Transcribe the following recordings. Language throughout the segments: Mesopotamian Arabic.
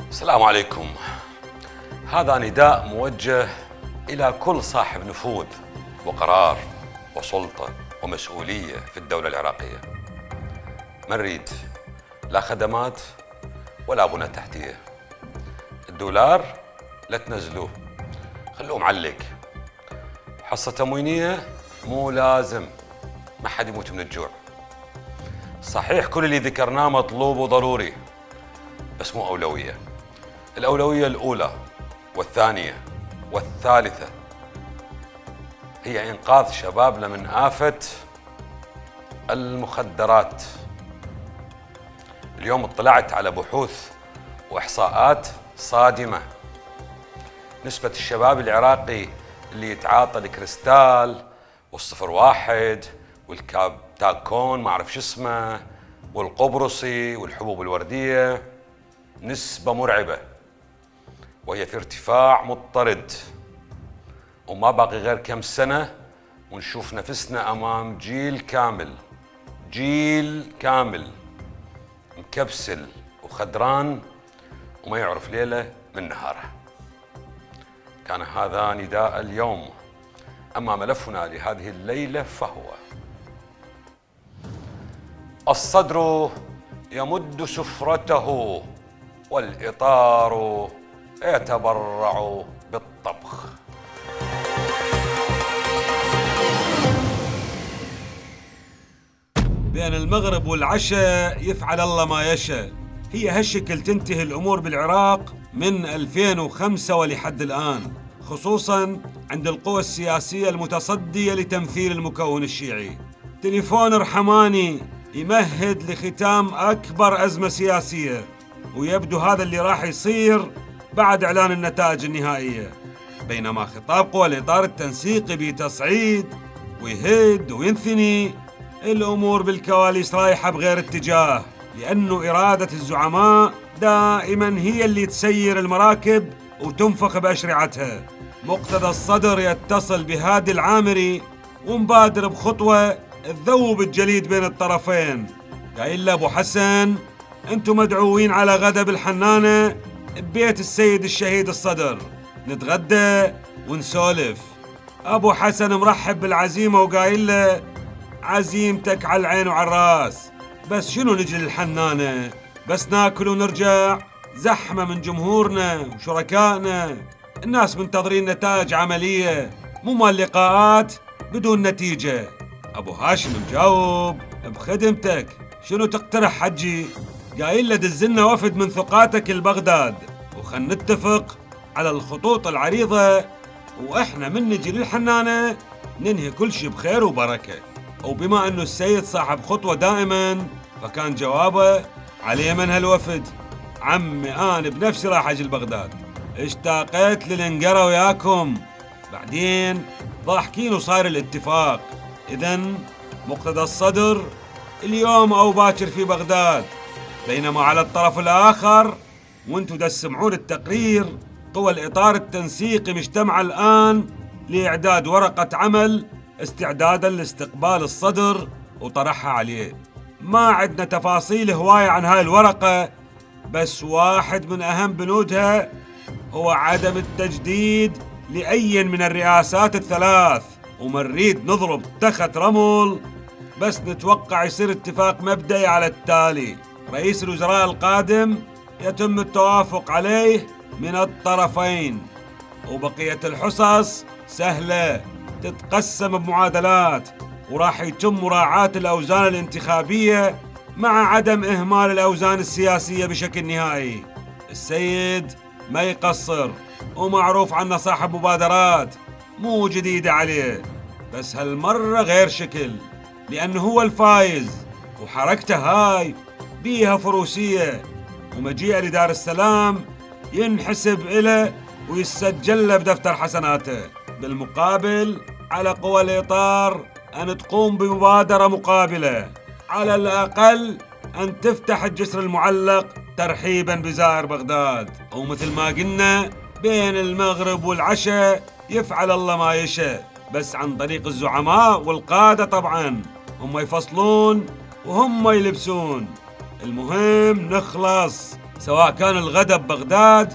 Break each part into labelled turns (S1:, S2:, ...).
S1: السلام عليكم. هذا نداء موجه إلى كل صاحب نفوذ وقرار وسلطة ومسؤولية في الدولة العراقية. ما نريد لا خدمات ولا بنى تحتية. الدولار لا تنزلوه، خلوه معلق. حصة تموينية مو لازم، ما حد يموت من الجوع. صحيح كل اللي ذكرناه مطلوب وضروري، بس مو أولوية. الأولوية الأولى والثانية والثالثة هي إنقاذ شبابنا من آفة المخدرات. اليوم اطلعت على بحوث وإحصاءات صادمة. نسبة الشباب العراقي اللي يتعاطى الكريستال والصفر واحد والكابتاكون ما أعرف شو اسمه والقبرصي والحبوب الوردية نسبة مرعبة، وهي في ارتفاع مضطرد، وما باقي غير كم سنة ونشوف نفسنا أمام جيل كامل مكبسل وخدران وما يعرف ليلة من نهاره. كان هذا نداء اليوم. أما ملفنا لهذه الليلة فهو: الصدر يمد سفرته والإطار يتبرع بالطبخ.
S2: بين المغرب والعشاء يفعل الله ما يشاء. هي هالشكل تنتهي الأمور بالعراق من 2005 ولحد الآن، خصوصاً عند القوى السياسية المتصدية لتمثيل المكون الشيعي. تليفون رحماني يمهد لختام أكبر أزمة سياسية، ويبدو هذا اللي راح يصير بعد إعلان النتائج النهائية. بينما خطاب قوى الإطار التنسيقي بتصعيد ويهد وينثني، الأمور بالكواليس رايحة بغير اتجاه، لأنه إرادة الزعماء دائما هي اللي تسير المراكب وتنفخ بأشرعتها. مقتدى الصدر يتصل بهادي العامري ومبادر بخطوة تذوب الجليد بين الطرفين. قايل له: أبو حسن، أنتم مدعوين على غدا بالحنانة ببيت السيد الشهيد الصدر، نتغدى ونسولف. أبو حسن مرحب بالعزيمة وقايل له: عزيمتك على العين وعلى الراس، بس شنو نجي للحنانة؟ بس ناكل ونرجع؟ زحمة من جمهورنا وشركائنا، الناس منتظرين نتائج عملية، مو مال لقاءات بدون نتيجة. أبو هاشم مجاوب: بخدمتك، شنو تقترح حجي؟ قايل له: دزلنا وفد من ثقاتك لبغداد وخل نتفق على الخطوط العريضة، وإحنا من نجي للحنانة ننهي كل شي بخير وبركة. وبما أنه السيد صاحب خطوة دائما، فكان جوابه: على من هالوفد؟ عمي أنا بنفسي راح أجي لبغداد، اشتاقيت للنقرة وياكم. بعدين ضاحكين وصار الاتفاق. إذن مقتدى الصدر اليوم أو باكر في بغداد، بينما على الطرف الآخر وانتو تسمعون التقرير، قوى الإطار التنسيقي مجتمعة الآن لإعداد ورقة عمل استعدادا لاستقبال الصدر وطرحها عليه. ما عندنا تفاصيل هواية عن هاي الورقة، بس واحد من أهم بنودها هو عدم التجديد لأي من الرئاسات الثلاث، وما نريد نضرب تخت رمل، بس نتوقع يصير اتفاق مبدئي على التالي: رئيس الوزراء القادم يتم التوافق عليه من الطرفين، وبقية الحصص سهلة تتقسم بمعادلات، وراح يتم مراعاة الأوزان الانتخابية مع عدم إهمال الأوزان السياسية بشكل نهائي. السيد ما يقصر ومعروف عنه صاحب مبادرات مو جديدة عليه، بس هالمرة غير شكل، لأنه هو الفايز وحركته هاي بيها فروسية، ومجيئه لدار السلام ينحسب إله ويسجل له بدفتر حسناته. بالمقابل على قوى الإطار أن تقوم بمبادرة مقابلة، على الأقل أن تفتح الجسر المعلق ترحيباً بزائر بغداد. ومثل ما قلنا بين المغرب والعشاء يفعل الله ما يشاء، بس عن طريق الزعماء والقادة طبعاً، هم يفصلون وهم يلبسون. المهم نخلص، سواء كان الغدا ببغداد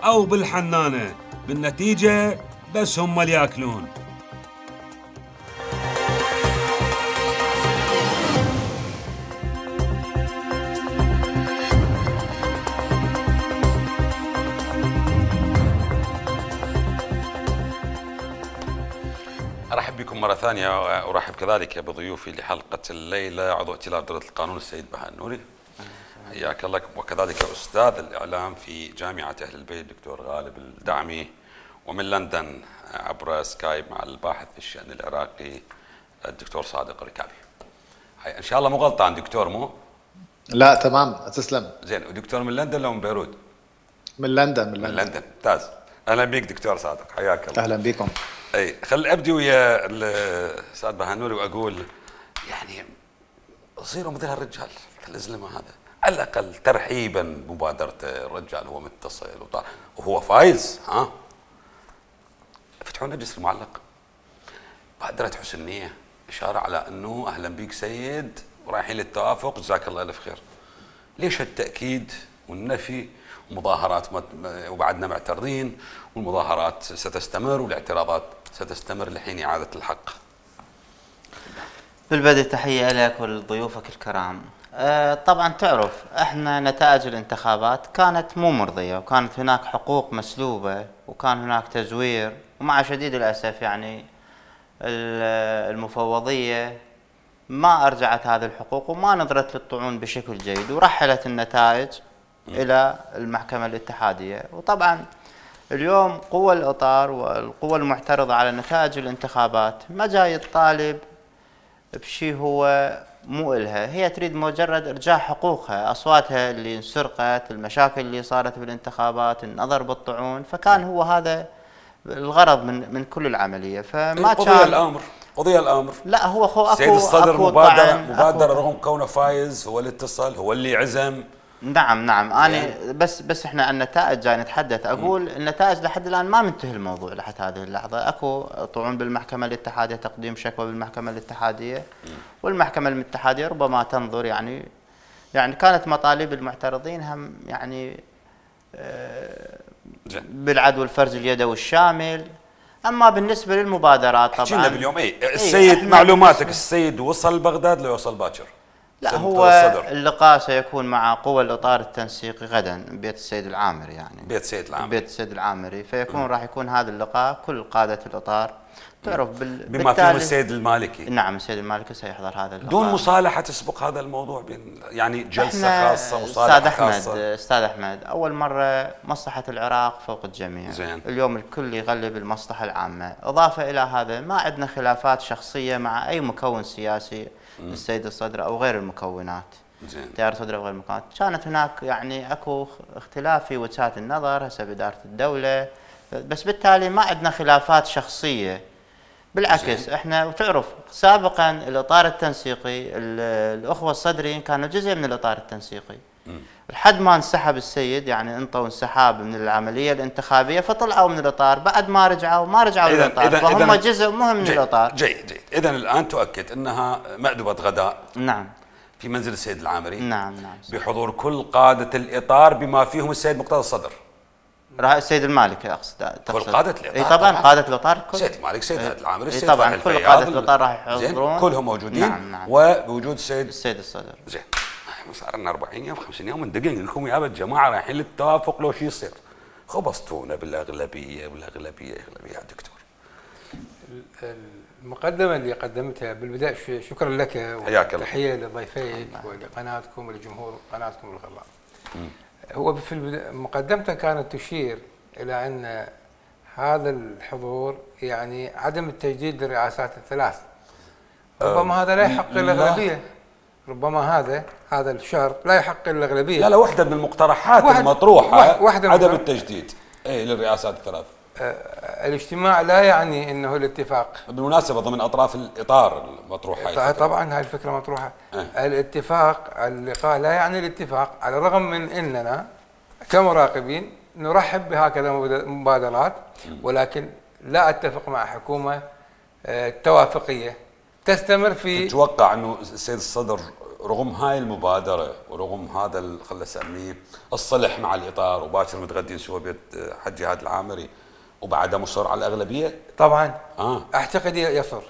S2: أو بالحنانة، بالنتيجة بس هم اللي ياكلون.
S1: أرحب بكم مرة ثانية، وأرحب كذلك بضيوفي لحلقة الليلة عضو ائتلاف دولة القانون السيد بهاء النوري، حياك الله، وكذلك أستاذ الإعلام في جامعة أهل البيت دكتور غالب الدعمي، ومن لندن عبر سكايب مع الباحث في الشأن العراقي الدكتور صادق الركابي. إن شاء الله مو غلطان دكتور مو؟
S3: لا تمام تسلم.
S1: زين، ودكتور من لندن لو من بيروت؟
S3: من لندن.
S1: من لندن، ممتاز. أهلا بك دكتور صادق، حياك الله.
S3: أهلا بكم.
S1: اي خل ابدي ويا الاستاذ بهاء النوري واقول يعني صيروا مثل هالرجال الزلمه هذا، على الاقل ترحيبا بمبادرته. الرجال هو متصل وهو فايز، ها فتحوا لنا جسر معلق، بادره حسن نيه، اشاره على انه اهلا بك سيد ورايحين للتوافق، جزاك الله الف خير. ليش التاكيد والنفي؟ مظاهرات وبعدنا معترضين، والمظاهرات ستستمر والاعتراضات ستستمر لحين إعادة الحق.
S4: بالبدء تحية لك ولضيوفك الكرام. طبعا تعرف احنا نتائج الانتخابات كانت مو مرضية، وكانت هناك حقوق مسلوبة، وكان هناك تزوير، ومع شديد الأسف يعني المفوضية ما أرجعت هذه الحقوق وما نظرت للطعون بشكل جيد، ورحلت النتائج إلى المحكمة الاتحادية. وطبعا اليوم قوى الإطار والقوى المعترضة على نتائج الانتخابات ما جاي تطالب بشيء هو مو إلها، هي تريد مجرد إرجاع حقوقها، أصواتها اللي انسرقت، المشاكل اللي صارت بالانتخابات، النظر بالطعون، فكان هو هذا الغرض من كل العملية. فما كان
S1: قضي الأمر.
S4: لا هو أكو
S1: سيد الصدر مبادرة رغم كونه فايز، هو اللي اتصل، هو اللي عزم.
S4: نعم أنا بس احنا عن النتائج جاي نتحدث. اقول النتائج لحد الان ما منتهي الموضوع لحد هذه اللحظه، اكو طعون بالمحكمه الاتحاديه، تقديم شكوى بالمحكمه الاتحاديه، والمحكمه الاتحاديه ربما تنظر يعني كانت مطالب المعترضين هم يعني بالعدو الفرز اليدوي الشامل. اما بالنسبه للمبادرات طبعا
S1: حكينا باليوم السيد معلوماتك، السيد وصل بغداد لو يوصل باكر؟
S4: لا هو اللقاء سيكون مع قوى الإطار التنسيقي غدا ببيت السيد العامري، يعني بيت السيد العامري، فيكون راح يكون هذا اللقاء كل قادة الإطار تعرف
S1: بما فيهم السيد المالكي.
S4: نعم السيد المالكي سيحضر هذا اللقاء
S1: دون مصالحة تسبق هذا الموضوع يعني جلسة خاصة، مصالحة خاصة.
S4: أستاذ أحمد، أول مرة مصلحة العراق فوق الجميع.
S1: زين.
S4: اليوم الكل يغلب المصلحة العامة. إضافة إلى هذا ما عندنا خلافات شخصية مع أي مكون سياسي، السيد الصدر أو غير المكونات، تيار صدر أو غير المكونات. كانت هناك يعني أكو اختلاف في وجهات النظر هسه بإدارة الدولة، بس بالتالي ما عندنا خلافات شخصية. بالعكس احنا وتعرف سابقا الإطار التنسيقي الأخوة الصدريين كانوا جزء من الإطار التنسيقي، لحد ما انسحب السيد، يعني انطوا انسحاب من العملية الانتخابية، فطلعوا من الإطار. بعد ما رجعوا للإطار، فهم جزء مهم من الإطار.
S1: جيد. إذن الآن تؤكد أنها مأدبة غداء.
S4: نعم.
S1: في منزل السيد العامري.
S4: نعم.
S1: بحضور كل قادة الإطار بما فيهم السيد مقتدى الصدر.
S4: السيد المالكي اقصد.
S1: كل قادة الإطار.
S4: اي طبعا قادة الإطار الكل.
S1: سيد المالك، سيد العامري، السيد
S4: طبعا كل قادة الإطار راح يحضرون.
S1: كلهم موجودين.
S4: نعم.
S1: وبوجود
S4: السيد الصدر.
S1: زين. صار لنا 40 يوم 50 يوم ندقق لكم يا جماعه رايحين للتوافق لو شيء يصير. خبصتونا بالاغلبيه اغلبيه يا دكتور.
S5: المقدمه اللي قدمتها بالبدايه شكرا لك، وتحيه لضيفيك ولقناتكم ولجمهور قناتكم الغراء. هو في مقدمته كانت تشير الى ان هذا الحضور يعني عدم التجديد للرئاسات الثلاث، ربما هذا لا يحق الاغلبيه. ربما هذا الشرط لا يحقق الاغلبيه.
S1: لا واحده من المقترحات المطروحه عدم التجديد للرئاسات الثلاث.
S5: الاجتماع لا يعني انه الاتفاق.
S1: بالمناسبه ضمن اطراف الاطار المطروح هاي
S5: طبعا هاي الفكره مطروحه. الاتفاق، اللقاء لا يعني الاتفاق، على الرغم من اننا كمراقبين نرحب بهكذا مبادرات، ولكن لا اتفق مع حكومه توافقيه تستمر في.
S1: تتوقع انه السيد الصدر رغم هاي المبادره ورغم هذا خلينا نسميه الصلح مع الاطار وباكر متغدين سوا بيت حج جهاد العامري وبعدها مصر على الاغلبيه؟
S5: طبعا اعتقد يصر.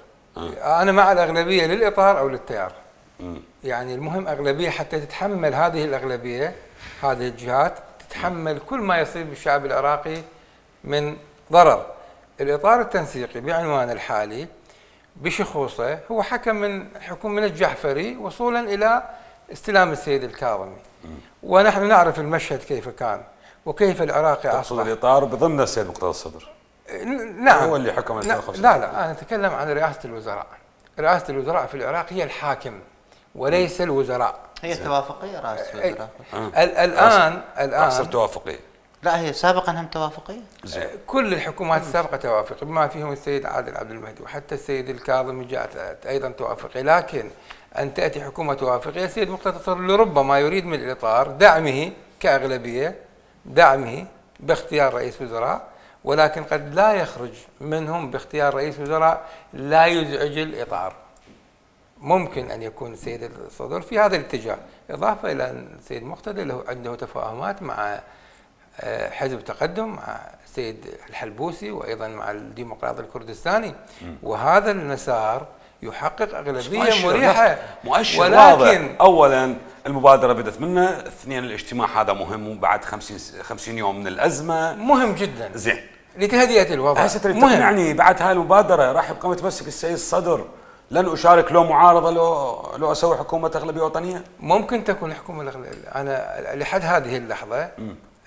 S5: انا مع الاغلبيه للاطار او للتيار. يعني المهم اغلبيه حتى تتحمل هذه الاغلبيه، هذه الجهات تتحمل كل ما يصيب بالشعب العراقي من ضرر. الاطار التنسيقي بعنوانه الحالي بشخوصه هو حكم من حكومة الجعفري وصولا إلى استلام السيد الكاظمي، ونحن نعرف المشهد كيف كان وكيف العراقي أصبح.
S1: تقصد الإطار بضمن السيد مقتدى الصدر؟
S5: نعم
S1: هو اللي حكم.
S5: لا أنا أتكلم عن رئاسة الوزراء. رئاسة الوزراء في العراق هي الحاكم وليس الوزراء.
S4: هي توافقية رئاسة الوزراء.
S5: الآن
S1: أحسن توافقية.
S4: لا هي سابقا هم توافقيه.
S5: كل الحكومات السابقه توافقيه بما فيهم السيد عادل عبد المهدي وحتى السيد الكاظمي جاءت ايضا توافقيه، لكن ان تاتي حكومه توافقيه السيد مقتدى الصدر لربما يريد من الاطار دعمه كاغلبيه، دعمه باختيار رئيس وزراء، ولكن قد لا يخرج منهم باختيار رئيس وزراء لا يزعج الاطار. ممكن ان يكون السيد الصدر في هذا الاتجاه، اضافه الى ان السيد مقتدى له عنده تفاهمات مع حزب تقدم، مع السيد الحلبوسي وايضا مع الديمقراطي الكردستاني، وهذا المسار يحقق اغلبيه مريحه.
S1: مؤشر واضح. اولا المبادره بدت منه، اثنين الاجتماع هذا مهم وبعد 50 يوم من الازمه
S5: مهم جدا.
S1: زين
S5: لتهدئه الوضع.
S1: مهم يعني بعد هاي المبادره راح يبقى متمسك السيد الصدر لن اشارك لو معارضه لو اسوي حكومه اغلبيه وطنيه؟
S5: ممكن تكون الحكومه الاغلبيه. انا لحد هذه اللحظه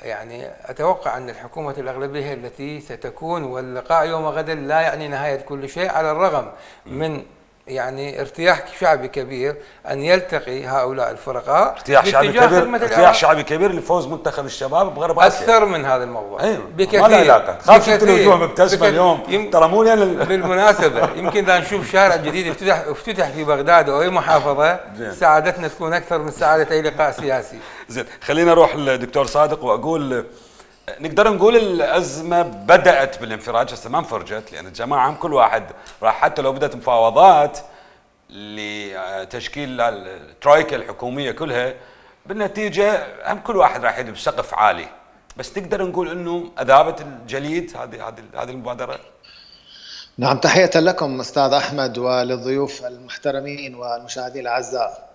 S5: يعني اتوقع ان الحكومه الاغلبيه هي التي ستكون، واللقاء يوم غدا لا يعني نهايه كل شيء، على الرغم من يعني ارتياح شعبي كبير ان يلتقي هؤلاء الفرقاء.
S1: ارتياح شعبي كبير لفوز منتخب الشباب بغرب اسيا.
S5: اكثر من هذا الموضوع.
S1: ايوه بكثير. ما له علاقه. خاف شفت الوجوه مبتسمه اليوم ترى مو
S5: بالمناسبه يمكن اذا نشوف شارع جديد افتتح في بغداد او اي محافظه سعادتنا تكون اكثر من سعاده اي لقاء سياسي.
S1: زين خلينا نروح للدكتور صادق واقول نقدر نقول الازمه بدات بالانفراج، هسه ما انفرجت، لان الجماعه هم كل واحد راح حتى لو بدات مفاوضات لتشكيل الترويكا الحكوميه كلها، بالنتيجه هم كل واحد راح يدب بسقف عالي، بس نقدر نقول انه اذابت الجليد هذه المبادره.
S3: نعم، تحيه لكم استاذ احمد وللضيوف المحترمين والمشاهدين الاعزاء.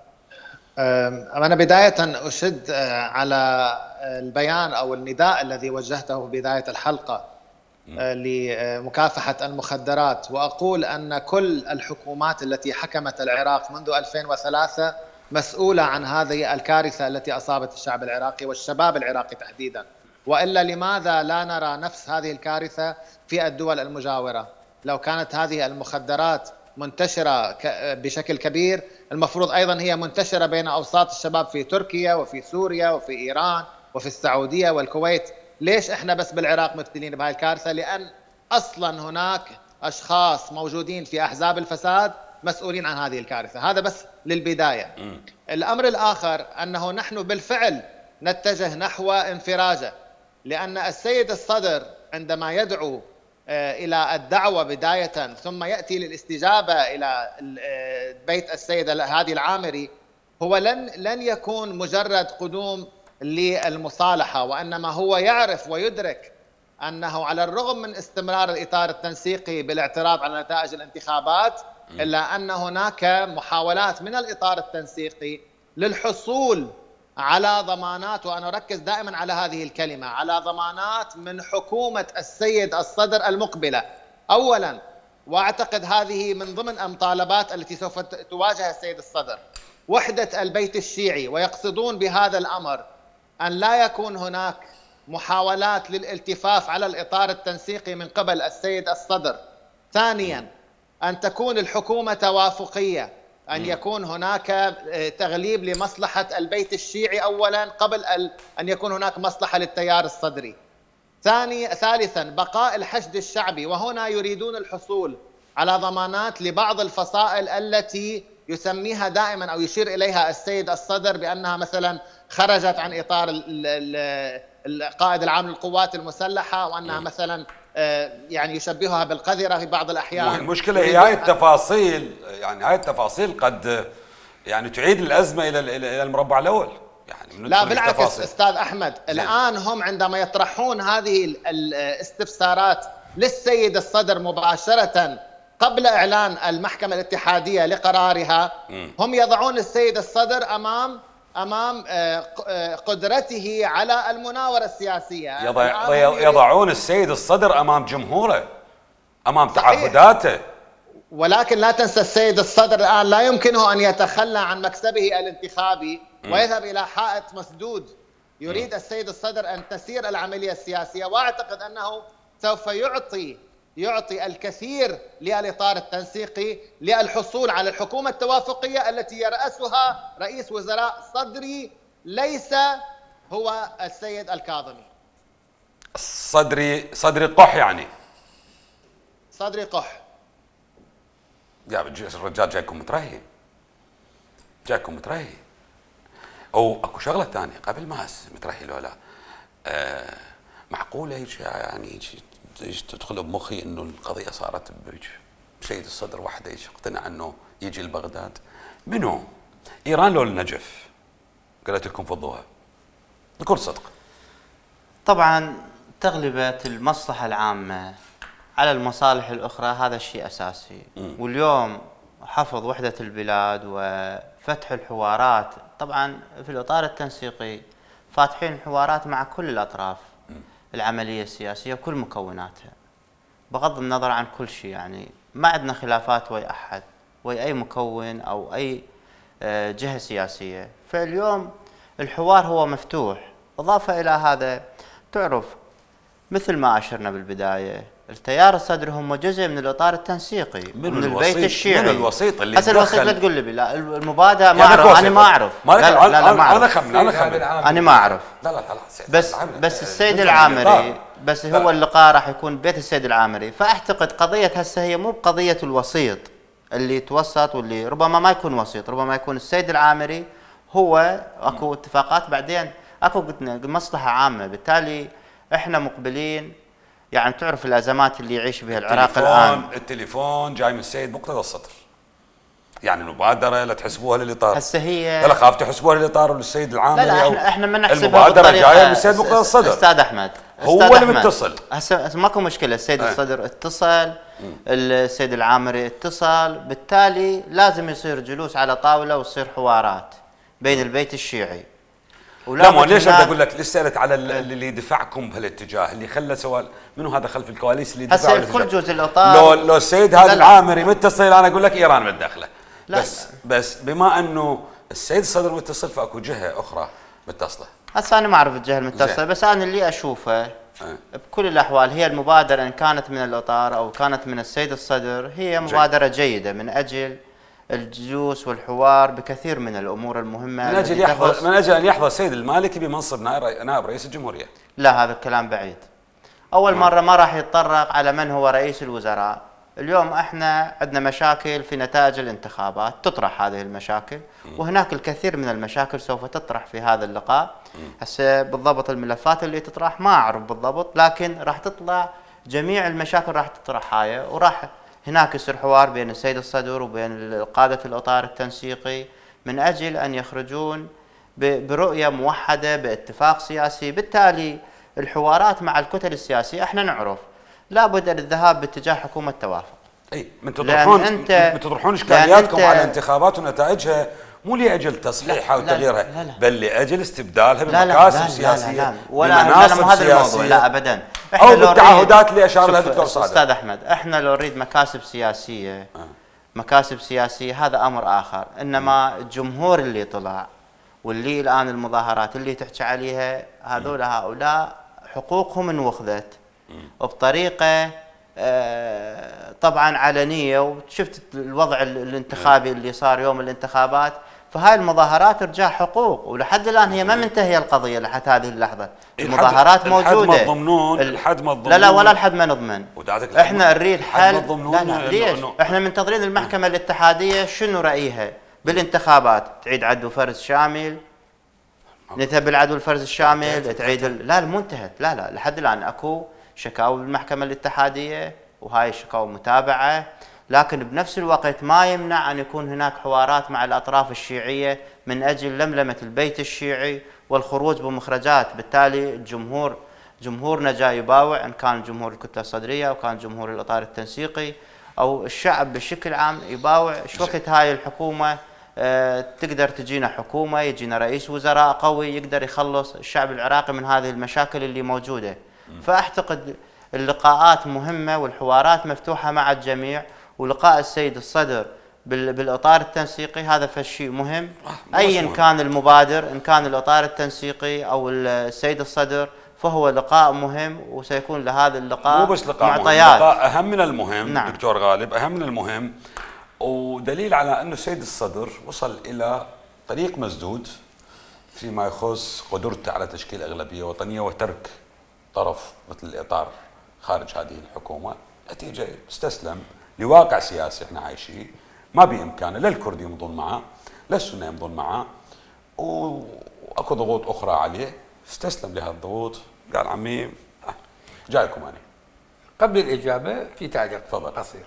S3: أنا بداية أشد على البيان أو النداء الذي وجهته بداية الحلقة لمكافحة المخدرات، وأقول أن كل الحكومات التي حكمت العراق منذ 2003 مسؤولة عن هذه الكارثة التي أصابت الشعب العراقي والشباب العراقي تحديدا، وإلا لماذا لا نرى نفس هذه الكارثة في الدول المجاورة؟ لو كانت هذه المخدرات منتشرة بشكل كبير المفروض أيضا هي منتشرة بين أوساط الشباب في تركيا وفي سوريا وفي إيران وفي السعودية والكويت. ليش إحنا بس بالعراق مبتلين بهذه الكارثة؟ لأن أصلا هناك أشخاص موجودين في أحزاب الفساد مسؤولين عن هذه الكارثة. هذا بس للبداية. الأمر الآخر أنه نحن بالفعل نتجه نحو انفراجه، لأن السيد الصدر عندما يدعو إلى الدعوة بداية ثم يأتي للاستجابة إلى بيت السيد هادي العامري، هو لن يكون مجرد قدوم للمصالحة، وإنما هو يعرف ويدرك أنه على الرغم من استمرار الإطار التنسيقي بالاعتراض على نتائج الانتخابات، إلا أن هناك محاولات من الإطار التنسيقي للحصول على ضمانات، وأنا أركز دائما على هذه الكلمة، على ضمانات من حكومة السيد الصدر المقبلة أولا. وأعتقد هذه من ضمن المطالبات التي سوف تواجه السيد الصدر، وحدة البيت الشيعي، ويقصدون بهذا الأمر أن لا يكون هناك محاولات للالتفاف على الإطار التنسيقي من قبل السيد الصدر. ثانيا أن تكون الحكومة توافقية. أن يكون هناك تغليب لمصلحة البيت الشيعي أولا قبل أن يكون هناك مصلحة للتيار الصدري. ثالثا بقاء الحشد الشعبي، وهنا يريدون الحصول على ضمانات لبعض الفصائل التي يسميها دائما أو يشير إليها السيد الصدر بأنها مثلا خرجت عن إطار القائد العام للقوات المسلحة، وأنها مثلا يعني يشبهها بالقذرة في بعض الأحيان.
S1: المشكلة هي هاي التفاصيل، يعني هاي التفاصيل قد يعني تعيد الأزمة إلى المربع الأول. يعني
S3: لا بالعكس أستاذ أحمد، الآن هم عندما يطرحون هذه الاستفسارات للسيد الصدر مباشرة قبل إعلان المحكمة الاتحادية لقرارها، هم يضعون السيد الصدر أمام قدرته على المناورة السياسية.
S1: يضعون السيد الصدر أمام جمهوره، أمام تعهداته.
S3: ولكن لا تنسى السيد الصدر الآن لا يمكنه أن يتخلى عن مكسبه الانتخابي ويذهب إلى حائط مسدود. يريد السيد الصدر أن تسير العملية السياسية، وأعتقد أنه سوف يعطي الكثير للإطار التنسيقي للحصول على الحكومة التوافقية التي يرأسها رئيس وزراء صدري، ليس هو السيد الكاظمي.
S1: صدري قح يعني.
S3: صدري قح.
S1: يا الرجال جايكم مترهي. او اكو شغله ثانيه قبل ما مترهي لولا معقوله هيك يعني تدخل بمخي انه القضيه صارت بسيد الصدر وحده يقتنع انه يجي لبغداد. منو؟ ايران لو النجف؟ قالت لكم فضوها بكل صدق.
S4: طبعا تغلبة المصلحة العامة على المصالح الأخرى هذا شيء أساسي. واليوم حفظ وحدة البلاد وفتح الحوارات، طبعا في الإطار التنسيقي فاتحين الحوارات مع كل الأطراف العملية السياسية وكل مكوناتها بغض النظر عن كل شيء. يعني ما عندنا خلافات ويا أحد ويا أي مكون أو أي جهة سياسية. فاليوم الحوار هو مفتوح. إضافة إلى هذا تعرف مثل ما أشرنا بالبداية، التيار الصدري هم جزء من الإطار التنسيقي من البيت الشيعي.
S1: من الوسيط اللي
S4: هسه الوسيط لا تقول لي لا المبادئ ما أعرف. أنا ما أعرف.
S1: لا ما أعرف.
S4: أنا ما أعرف.
S1: لا
S4: بس السيد العامري بس هو اللقاء راح يكون بيت السيد العامري. فأعتقد قضية هسه هي مو بقضية الوسيط اللي يتوسط واللي ربما ما يكون وسيط، ربما يكون السيد العامري هو اكو اتفاقات بعدين اكو مصلحة عامة. بالتالي احنا مقبلين، يعني تعرف الازمات اللي يعيش بها العراق الان.
S1: التليفون جاي من السيد مقتدى الصدر، يعني المبادرة لا تحسبوها للاطار.
S4: هسه هي
S1: لا خاف تحسبوها للاطار للسيد العامري.
S4: لا احنا ما نحسبها
S1: المبادرة جاية من السيد مقتدى الصدر.
S4: استاذ احمد
S1: هو اللي متصل.
S4: هسه ماكو مشكلة، السيد الصدر اتصل، السيد العامري اتصل، بالتالي لازم يصير جلوس على طاولة ويصير حوارات بين البيت الشيعي.
S1: لا مو ليش بدي اقول لك ليش سالت على اللي دفعكم بهالاتجاه، اللي خلى سؤال منو هذا خلف الكواليس اللي دفعوا
S4: هسه كل جزء الاطار.
S1: لو السيد هذا العامري متصل انا اقول لك ايران متدخله. بس بما انه السيد الصدر متصل فاكو جهه اخرى متصله.
S4: هسه انا ما اعرف الجهه المتصله، بس انا اللي اشوفه بكل الاحوال هي المبادره ان كانت من الاطار او كانت من السيد الصدر هي مبادره جيده من اجل الجلوس والحوار بكثير من الامور المهمه،
S1: من اجل ان يحظى السيد المالكي بمنصب نائب رئيس الجمهوريه.
S4: لا هذا الكلام بعيد. اول مره ما راح يتطرق على من هو رئيس الوزراء. اليوم احنا عندنا مشاكل في نتائج الانتخابات، تطرح هذه المشاكل وهناك الكثير من المشاكل سوف تطرح في هذا اللقاء. هسه بالضبط الملفات اللي تطرح ما اعرف بالضبط، لكن راح تطلع جميع المشاكل راح تطرح هاي، وراح هناك يصير حوار بين السيد الصدر وبين قادة الإطار التنسيقي من أجل أن يخرجون برؤية موحدة باتفاق سياسي. بالتالي الحوارات مع الكتل السياسية احنا نعرف لابد الذهاب باتجاه حكومة توافق.
S1: اي من تطرحون اشكالياتكم على الانتخابات ونتائجها مو لاجل تصحيحها وتغييرها، بل لاجل استبدالها بمكاسب سياسيه
S4: بمناصب هذا الموضوع. لا ابدا،
S1: او بالتعهدات اللي اشار لها الدكتور صادق.
S4: استاذ احمد، احنا لو نريد مكاسب سياسيه مكاسب سياسيه هذا امر اخر، انما الجمهور اللي طلع واللي الان المظاهرات اللي تحكي عليها هؤلاء حقوقهم انوخذت بطريقه طبعا علنيه، وشفت الوضع الانتخابي اللي صار يوم الانتخابات. فهاي المظاهرات ارجاع حقوق، ولحد الان هي ما منتهيه القضيه لحد هذه اللحظه. المظاهرات موجوده.
S1: الحد ما تضمنون، الحد ما تضمنون.
S4: لا ولا الحد ما نضمن. احنا نريد حل. لا ليش؟ احنا منتظرين المحكمه الاتحاديه شنو رايها بالانتخابات، تعيد عدو فرز شامل، نذهب العدو الفرز الشامل، تعيد لا مو انتهت. لا لحد الان اكو شكاوى بالمحكمه الاتحاديه، وهاي الشكاوى متابعه، لكن بنفس الوقت ما يمنع ان يكون هناك حوارات مع الاطراف الشيعيه من اجل لملمه البيت الشيعي والخروج بمخرجات. بالتالي جمهورنا جاي يباوع، ان كان جمهور الكتله الصدريه او كان جمهور الاطار التنسيقي او الشعب بشكل عام يباوع. شو وقت هاي الحكومه تقدر تجينا حكومه، يجينا رئيس وزراء قوي يقدر يخلص الشعب العراقي من هذه المشاكل اللي موجوده. فاعتقد اللقاءات مهمه والحوارات مفتوحه مع الجميع، ولقاء السيد الصدر بالاطار التنسيقي هذا فشيء مهم. ايا كان المبادر، ان كان الاطار التنسيقي او السيد الصدر، فهو لقاء مهم، وسيكون لهذا اللقاء
S1: مو بس لقاء
S4: معطيات.
S1: لقاء اهم من المهم.
S4: نعم.
S1: دكتور غالب، اهم من المهم، ودليل على انه السيد الصدر وصل الى طريق مسدود فيما يخص قدرته على تشكيل اغلبيه وطنيه وترك طرف مثل الاطار خارج هذه الحكومه. نتيجه استسلم لواقع سياسي احنا عايشين، ما بامكانه لا الكرد يمضون معه لا السنه يمضون معه، واكو ضغوط اخرى عليه، استسلم لهذه الضغوط، قال عمي جايكم انا.
S5: قبل الاجابه في تعليق قصير.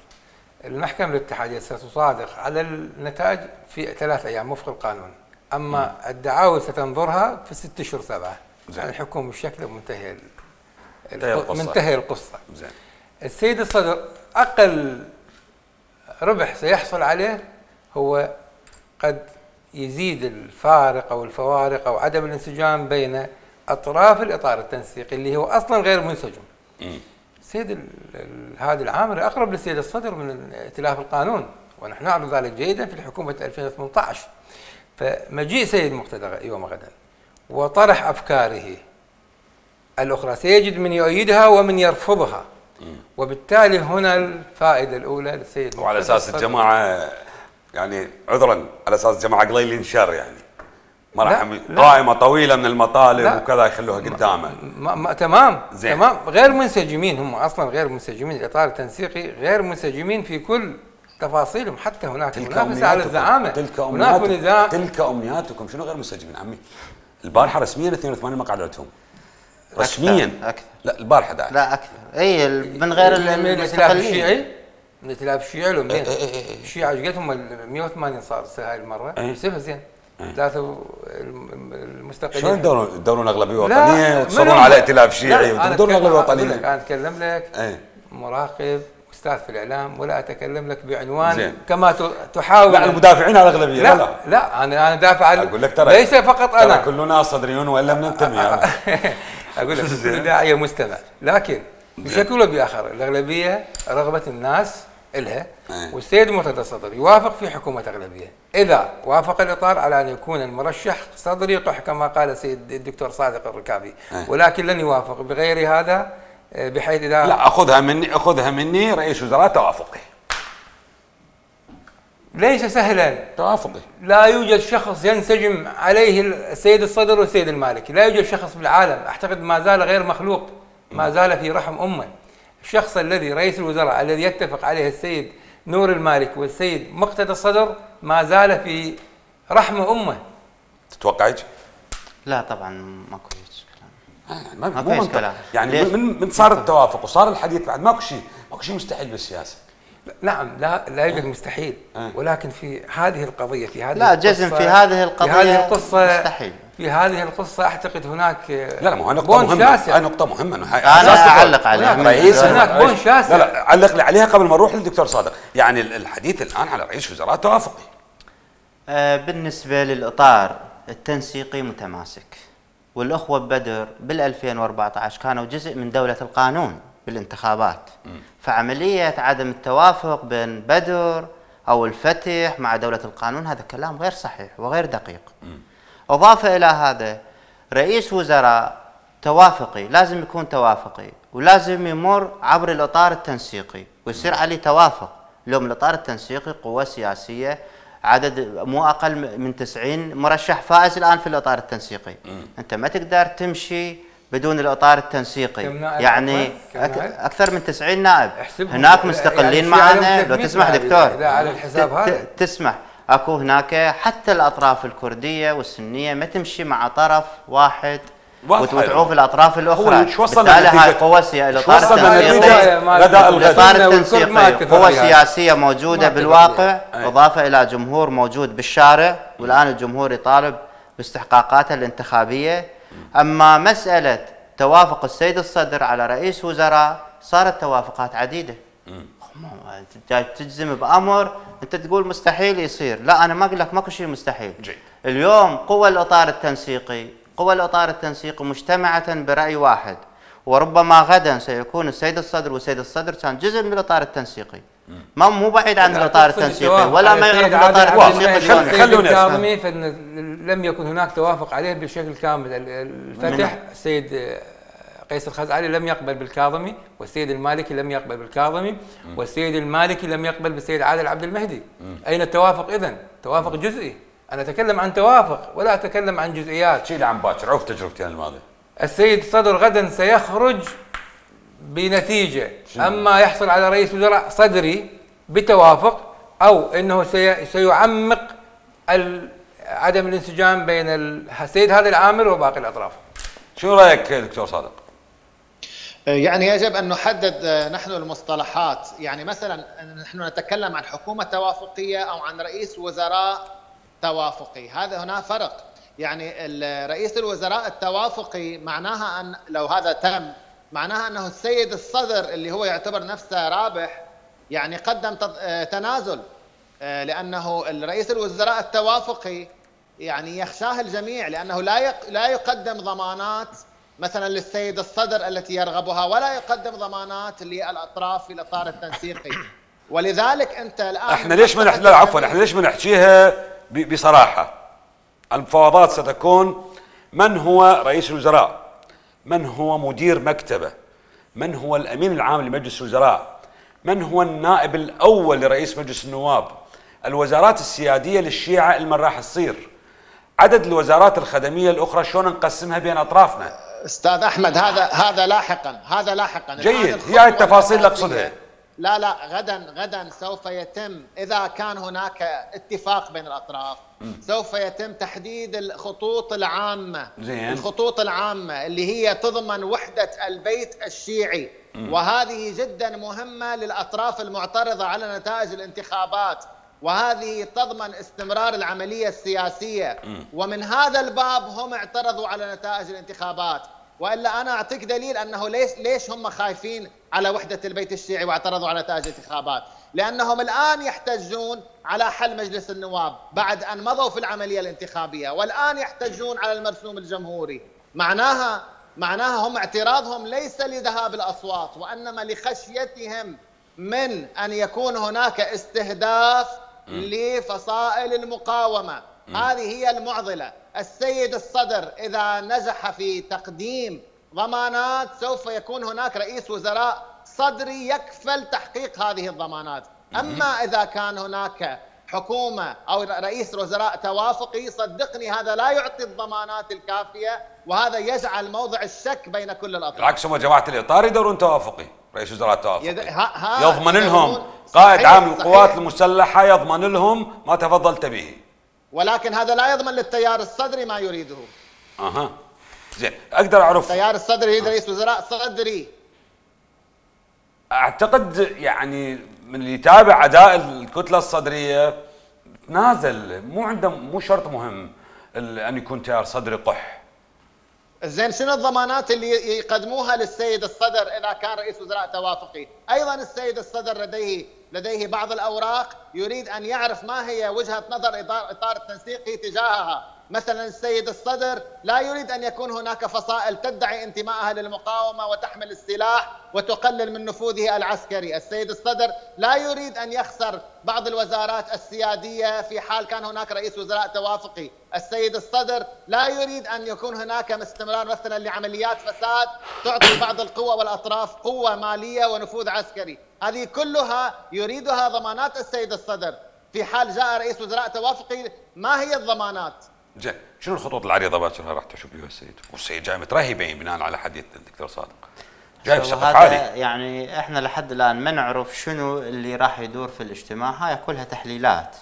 S5: المحكمه الاتحاديه ستصادق على النتائج في 3 ايام وفق القانون، اما الدعاوى ستنظرها في 6 اشهر 7. يعني الحكومه بشكل منتهي القصه.
S1: زين.
S5: السيد الصدر اقل ربح سيحصل عليه هو قد يزيد الفارق او الفوارق او عدم الانسجام بين اطراف الاطار التنسيقي اللي هو اصلا غير منسجم. السيد هذا العامل اقرب للسيد الصدر من ائتلاف القانون، ونحن نعرف ذلك جيدا في الحكومه 2018. فمجيء سيد مقتدى يوم غدا وطرح افكاره الاخرى سيجد من يؤيدها ومن يرفضها، وبالتالي هنا الفائده الاولى للسيد مقتدى.
S1: وعلى اساس الجماعه يعني عذرا، على اساس الجماعه قليلين شر، يعني ما راح قائمه طويله من المطالب وكذا يخلوها قدامه.
S5: تمام زين. تمام. غير منسجمين، هم اصلا غير منسجمين، الاطار التنسيقي غير منسجمين في كل تفاصيلهم، حتى هناك منافسه على الزعامه.
S1: تلك امنياتكم. شنو غير منسجمين عمي؟ البارحه رسميا 82 مقعد عندهم رسميا.
S4: أكثر.
S1: لا البارحه داعي.
S4: لا اكثر. اي من غير
S5: الائتلاف الشيعي، من الائتلاف الشيعي لو منين؟ الشيعة ايش قد هم 180 صار هاي المره. سيبها زين. 3 المستقلين.
S1: شلون تدورون اغلبيه وطنيه وتصرون على ائتلاف شيعي وتدورون اغلبيه وطنيه؟
S5: انا اتكلم لك مراقب استاذ في الاعلام، ولا اتكلم لك بعنوان زين. كما تحاول.
S1: لا المدافعين على الاغلبيه.
S5: لا انا دافع عن،
S1: اقول لك ترى
S5: ليس فقط انا،
S1: ترى كلنا صدريون والا بننتمي.
S5: اقول لك كل داعيه مستمع، لكن بشكل او باخر الاغلبيه رغبه الناس إلها، والسيد مرتضى الصدر يوافق في حكومة أغلبية إذا وافق الإطار على أن يكون المرشح صدري طح كما قال السيد الدكتور صادق الركابي، ولكن لن يوافق بغير هذا، بحيث إذا
S1: لا أخذها مني رئيس وزراء توافقي.
S5: ليس سهلا
S1: توافقي.
S5: لا يوجد شخص ينسجم عليه السيد الصدر والسيد المالكي، لا يوجد شخص بالعالم، أعتقد ما زال غير مخلوق، ما زال في رحم أمه. الشخص الذي رئيس الوزراء الذي يتفق عليه السيد نور المالك والسيد مقتدى الصدر ما زال في رحم امه.
S1: تتوقع يجي؟
S4: لا طبعا ماكو كلام.
S1: ماكو كلام. يعني من صار التوافق وصار الحديث بعد ماكو شيء مستحيل بالسياسه.
S5: نعم لا يوجد مستحيل، ولكن في هذه القضيه في هذه
S4: لا جزم في هذه القضيه، في
S5: هذه القصه
S4: مستحيل.
S5: في هذه القصه اعتقد هناك
S1: لا ما هو نقطه مهمه. نقطه مهمه.
S4: انا اعلق عليها
S1: رئيس
S5: هناك بون شاسع.
S1: لا علق لي عليها قبل ما نروح للدكتور صادق. يعني الحديث الان على رئيس وزراء توافقي.
S4: بالنسبه للاطار التنسيقي متماسك، والاخوه ببدر بال 2014 كانوا جزء من دوله القانون بالانتخابات. فعمليه عدم التوافق بين بدر او الفتح مع دوله القانون هذا كلام غير صحيح وغير دقيق. اضافه الى هذا، رئيس وزراء توافقي، لازم يكون توافقي، ولازم يمر عبر الإطار التنسيقي ويصير عليه توافق. اليوم الإطار التنسيقي قوة سياسية عدد مو أقل من 90 مرشح فائز الآن في الإطار التنسيقي. أنت ما تقدر تمشي بدون الإطار التنسيقي، يعني أكثر من 90 نائب هناك مستقلين يعني معنا. لو تسمح دكتور،
S5: إذا على الحساب هذا
S4: تسمح، اكو هناك حتى الاطراف الكرديه والسنيه ما تمشي مع طرف واحد وتعوف الاطراف الاخرى.
S1: شو وصلنا
S4: بالتالي هاي قوه التنسيقي قوه سياسيه موجوده بالواقع، اضافه الى جمهور موجود بالشارع، والان الجمهور يطالب باستحقاقاته الانتخابيه. اما مساله توافق السيد الصدر على رئيس وزراء صارت توافقات عديده. تجزم بامر انت تقول مستحيل يصير، لا انا ما اقول لك ماكو شيء مستحيل. اليوم قوى الاطار التنسيقي مجتمعه براي واحد، وربما غدا سيكون السيد الصدر، والسيد الصدر كان جزء من الاطار التنسيقي، مو بعيد عن الاطار التنسيقي ولا ما يعرف الاطار التنسيقي.
S5: خلوني الكاظمي لم يكن هناك توافق عليه بشكل كامل. الفتح السيد قيس الخزعلي لم يقبل بالكاظمي، والسيد المالكي لم يقبل بالكاظمي، والسيد المالكي لم يقبل بالسيد عادل عبد المهدي. أين التوافق إذن؟ توافق جزئي. أنا أتكلم عن توافق ولا أتكلم عن جزئيات.
S1: شيل عن باكر، عرف تجربتي الماضية.
S5: السيد الصدر غدا سيخرج بنتيجة، أما يحصل على رئيس وزراء صدري بتوافق، أو أنه سيعمق عدم الانسجام بين السيد هذا العامل وباقي الأطراف.
S1: شو رايك دكتور صادق؟
S3: يعني يجب ان نحدد نحن المصطلحات، يعني مثلا نحن نتكلم عن حكومه توافقيه او عن رئيس وزراء توافقي، هذا هنا فرق. يعني رئيس الوزراء التوافقي معناها ان لو هذا تم معناها انه السيد الصدر اللي هو يعتبر نفسه رابح يعني قدم تنازل، لانه الرئيس الوزراء التوافقي يعني يخشاه الجميع، لأنه لا يقدم ضمانات مثلا للسيد الصدر التي يرغبها، ولا يقدم ضمانات للأطراف في الإطار التنسيقي. ولذلك أنت الآن
S1: احنا ليش ما احنا ليش ما نحكيها بصراحة؟ المفاوضات ستكون من هو رئيس الوزراء، من هو مدير مكتبه، من هو الأمين العام لمجلس الوزراء، من هو النائب الأول لرئيس مجلس النواب، الوزارات السيادية للشيعة اللي راح تصير، عدد الوزارات الخدمية الأخرى شلون نقسمها بين أطرافنا.
S3: أستاذ أحمد هذا لاحقا
S1: جيد، هي التفاصيل اللي أقصدها.
S3: لا غدا سوف يتم، إذا كان هناك اتفاق بين الأطراف سوف يتم تحديد الخطوط العامة.
S1: زين.
S3: الخطوط العامة اللي هي تضمن وحدة البيت الشيعي، وهذه جدا مهمة للأطراف المعترضة على نتائج الانتخابات، وهذه تضمن استمرار العملية السياسية. ومن هذا الباب هم اعترضوا على نتائج الانتخابات، وإلا أنا أعطيك دليل أنه ليش هم خايفين على وحدة البيت الشيعي واعترضوا على نتائج الانتخابات، لأنهم الآن يحتجون على حل مجلس النواب بعد أن مضوا في العملية الانتخابية، والآن يحتجون على المرسوم الجمهوري. معناها هم اعتراضهم ليس لذهاب الأصوات، وإنما لخشيتهم من أن يكون هناك استهداف لفصائل المقاومة. هذه هي المعضلة. السيد الصدر إذا نجح في تقديم ضمانات سوف يكون هناك رئيس وزراء صدري يكفل تحقيق هذه الضمانات. أما إذا كان هناك حكومة أو رئيس وزراء توافقي، صدقني هذا لا يعطي الضمانات الكافية، وهذا يجعل موضع الشك بين كل الأطراف.
S1: بالعكس، هم جماعة الإطار يدورون توافقي، رئيس وزراء توافقي يضمن لهم قائد عام القوات المسلحة، يضمن لهم ما تفضلت به،
S3: ولكن هذا لا يضمن للتيار الصدري ما يريده.
S1: زين، اقدر اعرف
S3: التيار الصدري يريد رئيس وزراء صدري.
S1: اعتقد يعني من اللي يتابع اداء الكتلة الصدرية تنازل، مو شرط مهم ان يكون تيار صدري قح.
S3: زين، شنو الضمانات اللي يقدموها للسيد الصدر اذا كان رئيس وزراء توافقي؟ ايضا السيد الصدر لديه بعض الاوراق يريد ان يعرف ما هي وجهة نظر اطار التنسيقي تجاهها، مثلا السيد الصدر لا يريد أن يكون هناك فصائل تدعي انتمائها للمقاومة وتحمل السلاح وتقلل من نفوذه العسكري. السيد الصدر لا يريد أن يخسر بعض الوزارات السيادية في حال كان هناك رئيس وزراء توافقي. السيد الصدر لا يريد أن يكون هناك استمرار مثلا لعمليات فساد تعطي بعض القوى والأطراف قوة مالية ونفوذ عسكري. هذه كلها يريدها ضمانات السيد الصدر. في حال جاء رئيس وزراء توافقي ما هي الضمانات؟
S1: زين، شنو الخطوط العريضه باكر راح تشوف بها السيد؟ والسيد جاي مترهب بناء على حديث الدكتور صادق. جاي بسقف عالي.
S4: يعني احنا لحد الان ما نعرف شنو اللي راح يدور في الاجتماع، هاي كلها تحليلات.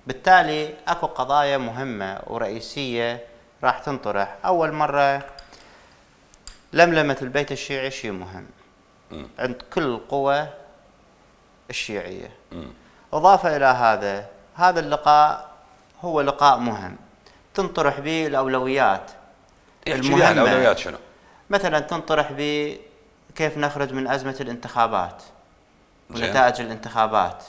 S4: بالتالي اكو قضايا مهمه ورئيسيه راح تنطرح. اول مره لملمه البيت الشيعي شيء مهم عند كل القوى الشيعيه. اضافه الى هذا اللقاء هو لقاء مهم تنطرح به الاولويات
S1: المهمه. الاولويات شنو؟
S4: مثلا تنطرح به كيف نخرج من ازمه الانتخابات ونتائج الانتخابات.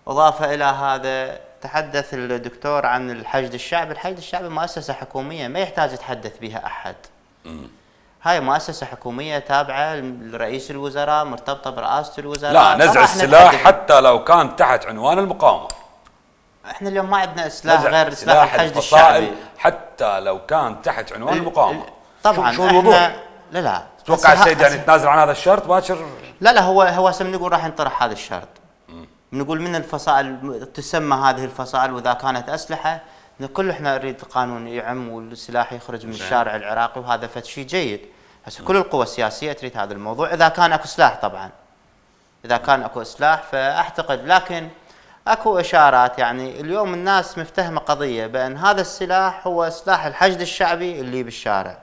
S4: اضافه الى هذا تحدث الدكتور عن الحشد الشعبي. الحشد الشعبي مؤسسه حكوميه ما يحتاج يتحدث بها احد. هاي مؤسسه حكوميه تابعه لرئيس الوزراء، مرتبطه برئاسه الوزراء.
S1: لا، نزع السلاح حتى لو كان تحت عنوان المقاومه.
S4: احنا اليوم ما عندنا سلاح غير سلاح الحشد الشعبي
S1: حتى لو كان تحت عنوان المقاومه.
S4: طبعا
S1: شو الموضوع؟
S4: لا
S1: تتوقع السيد يعني يتنازل عن هذا الشرط باكر؟
S4: لا هو هسه بنقول راح ينطرح هذا الشرط. بنقول من الفصائل تسمى هذه الفصائل، واذا كانت اسلحه كل احنا نريد القانون يعم والسلاح يخرج من الشارع العراقي، وهذا فد شيء جيد. هسه كل القوى السياسيه تريد هذا الموضوع اذا كان اكو سلاح. طبعا اذا كان اكو سلاح فاعتقد، لكن اكو اشارات. يعني اليوم الناس مفتهمه قضيه بان هذا السلاح هو سلاح الحشد الشعبي اللي بالشارع.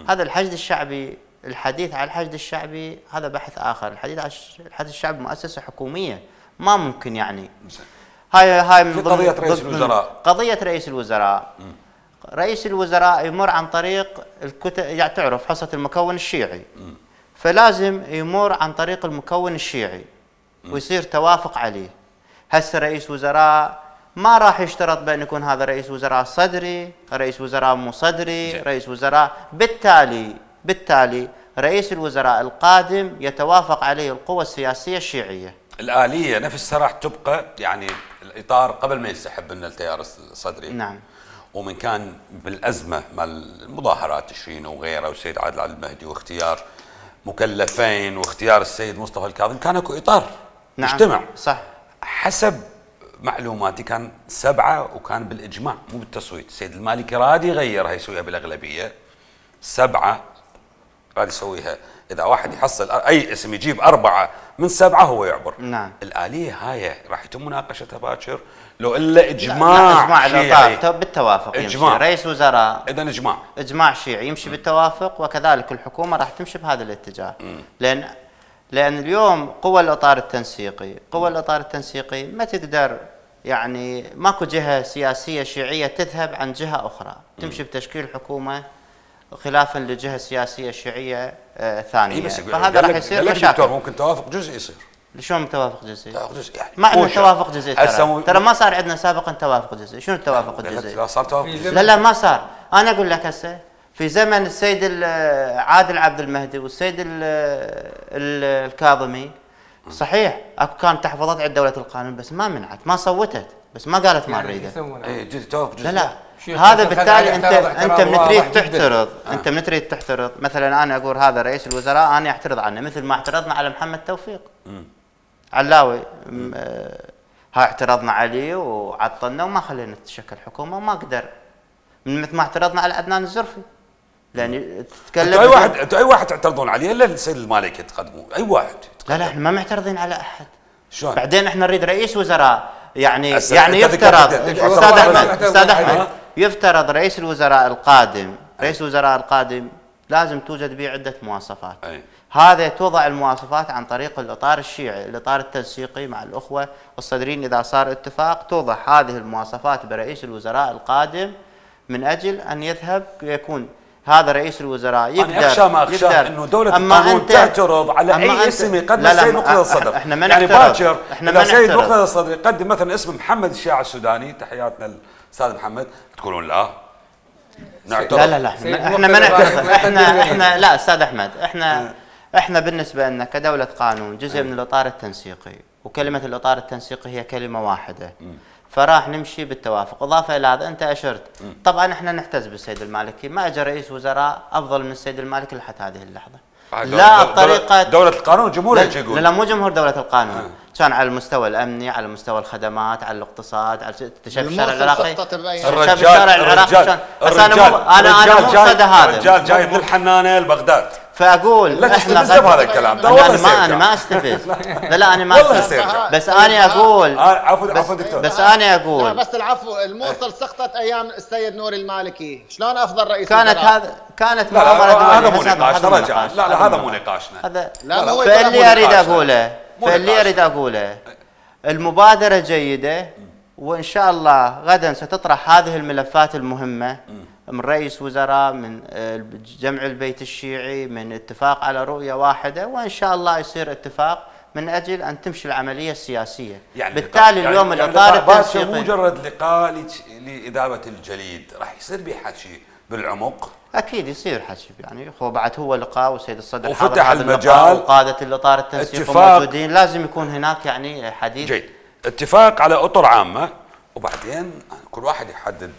S4: هذا الحشد الشعبي، الحديث عن الحشد الشعبي هذا بحث اخر. الحديث عن الحشد الشعبي مؤسسه حكوميه ما ممكن يعني. هاي من
S1: قضيه رئيس الوزراء.
S4: قضيه رئيس الوزراء. رئيس الوزراء يمر عن طريق الكتل، يعني تعرف حصه المكون الشيعي، فلازم يمر عن طريق المكون الشيعي ويصير توافق عليه. هسه رئيس وزراء ما راح يشترط بان يكون هذا رئيس وزراء صدري، رئيس وزراء مو صدري، رئيس وزراء. بالتالي رئيس الوزراء القادم يتوافق عليه القوى السياسيه الشيعيه.
S1: الآلية نفسها راح تبقى، يعني الإطار قبل ما ينسحب من التيار الصدري.
S4: نعم.
S1: ومن كان بالأزمة مال المظاهرات تشرين وغيرها والسيد عادل عبد المهدي واختيار مكلفين واختيار السيد مصطفى الكاظم كان اكو إطار.
S4: نعم.
S1: مجتمع.
S4: صح.
S1: حسب معلوماتي كان 7 وكان بالإجماع مو بالتصويت. السيد المالكي راد يغيرها يسويها بالأغلبية. 7 راد يسويها. إذا واحد يحصل أي اسم يجيب 4 من 7 هو يعبر.
S4: نعم.
S1: الآلية هاي راح يتم مناقشتها باكر لو إلا إجماع شيعي.
S4: بالتوافق.
S1: إجماع.
S4: رئيس وزراء.
S1: إذا
S4: إجماع شيعي يمشي بالتوافق، وكذلك الحكومة راح تمشي بهذا الاتجاه. لأن اليوم قوى الإطار التنسيقي ما تقدر، يعني ماكو جهة سياسية شيعية تذهب عن جهة أخرى، تمشي بتشكيل حكومة خلافا لجهة سياسية شيعية ثانية. فهذا راح يصير مشاكل.
S1: ممكن توافق جزئي يصير.
S4: شلون توافق جزئي؟
S1: يعني
S4: ما عندنا توافق جزئي. ترى ما صار عندنا سابقا توافق جزئي. شنو التوافق الجزئي؟
S1: لا صار توافق جزئي.
S4: لا ما صار. انا اقول لك هسه في زمن السيد عادل عبد المهدي والسيد الكاظمي صحيح اكو كان تحفظات عند دولة القانون، بس ما منعت، ما صوتت، بس ما قالت ما نريده.
S1: اي توافق جزئي.
S4: لا هذا بالتالي انت من تريد تحترض، انت من تريد تحترض. مثلا انا اقول هذا رئيس الوزراء انا اعترض عنه، مثل ما اعترضنا على محمد توفيق علاوي. ها اعترضنا عليه وعطلنا وما خلينا تتشكل حكومه وما قدر. مثل ما اعترضنا على عدنان الزرفي، لان تتكلم
S1: انتوا اي واحد تعترضون عليه الا السيد المالكي تقدمون اي واحد.
S4: لا احنا ما معترضين على احد.
S1: شلون؟
S4: بعدين احنا نريد رئيس وزراء يعني يفترض استاذ احمد يفترض رئيس الوزراء القادم لازم توجد به عده مواصفات. هذا توضع المواصفات عن طريق الاطار الشيعي، الاطار التنسيقي مع الاخوه الصدريين. اذا صار اتفاق توضع هذه المواصفات برئيس الوزراء القادم من اجل ان يذهب يكون هذا رئيس الوزراء يقدر.
S1: انا اخشى ما اخشى انه دوله القانون تعترض على اي اسم يقدم السيد مقتدى الصدر.
S4: احنا ما
S1: يعني باكر اذا السيد
S4: مقتدى
S1: الصدر يقدم مثلا اسم محمد الشيعي السوداني، تحياتنا الاستاذ محمد، تقولون لا نعترض.
S4: لا احنا ما نعترض. احنا لا استاذ احمد، احنا بالنسبه لنا كدوله قانون جزء من الاطار التنسيقي، وكلمه الاطار التنسيقي هي كلمه واحده. فراح نمشي بالتوافق. اضافه الى هذا انت اشرت، طبعا احنا نحتز بالسيد المالكي، ما اجى رئيس وزراء افضل من السيد المالكي لحتى هذه اللحظه. لا الطريقه
S1: دوله القانون جمهوريه يقول.
S4: لا مو جمهور دوله القانون، كان على المستوى الامني، على مستوى الخدمات، على الاقتصاد، على شايف الشارع العراقي.
S1: الشارع العراقي
S4: انا مو صدى هذا.
S1: الرجال جاي من الحنانه لبغداد.
S4: فاقول
S1: لا تستفز بهذا الكلام.
S4: انا ما استفز. لا انا ما استفز، بس انا اقول
S1: عفوا دكتور،
S4: بس انا اقول
S3: لا بس العفو، الموصل سقطت ايام السيد نور المالكي، شلون افضل رئيس
S4: كانت
S1: معامله هذا مو نقاشنا. لا هذا مو نقاشنا.
S4: فاللي اريد اقوله المبادره جيده، وان شاء الله غدا ستطرح هذه الملفات المهمه من رئيس وزراء، من جمع البيت الشيعي، من اتفاق على رؤيه واحده، وان شاء الله يصير اتفاق من اجل ان تمشي العمليه السياسيه.
S1: يعني
S4: بالتالي اليوم الاطار التنسيقي
S1: مجرد لقاء لاذابه الجليد، راح يصير به حكي بالعمق.
S4: اكيد يصير حكي، يعني هو لقاء والسيد الصدر
S1: وفتح المجال،
S4: وقاده الاطار التنسيقي موجودين، لازم يكون هناك يعني حديث
S1: جيد، اتفاق على اطر عامه، وبعدين كل واحد يحدد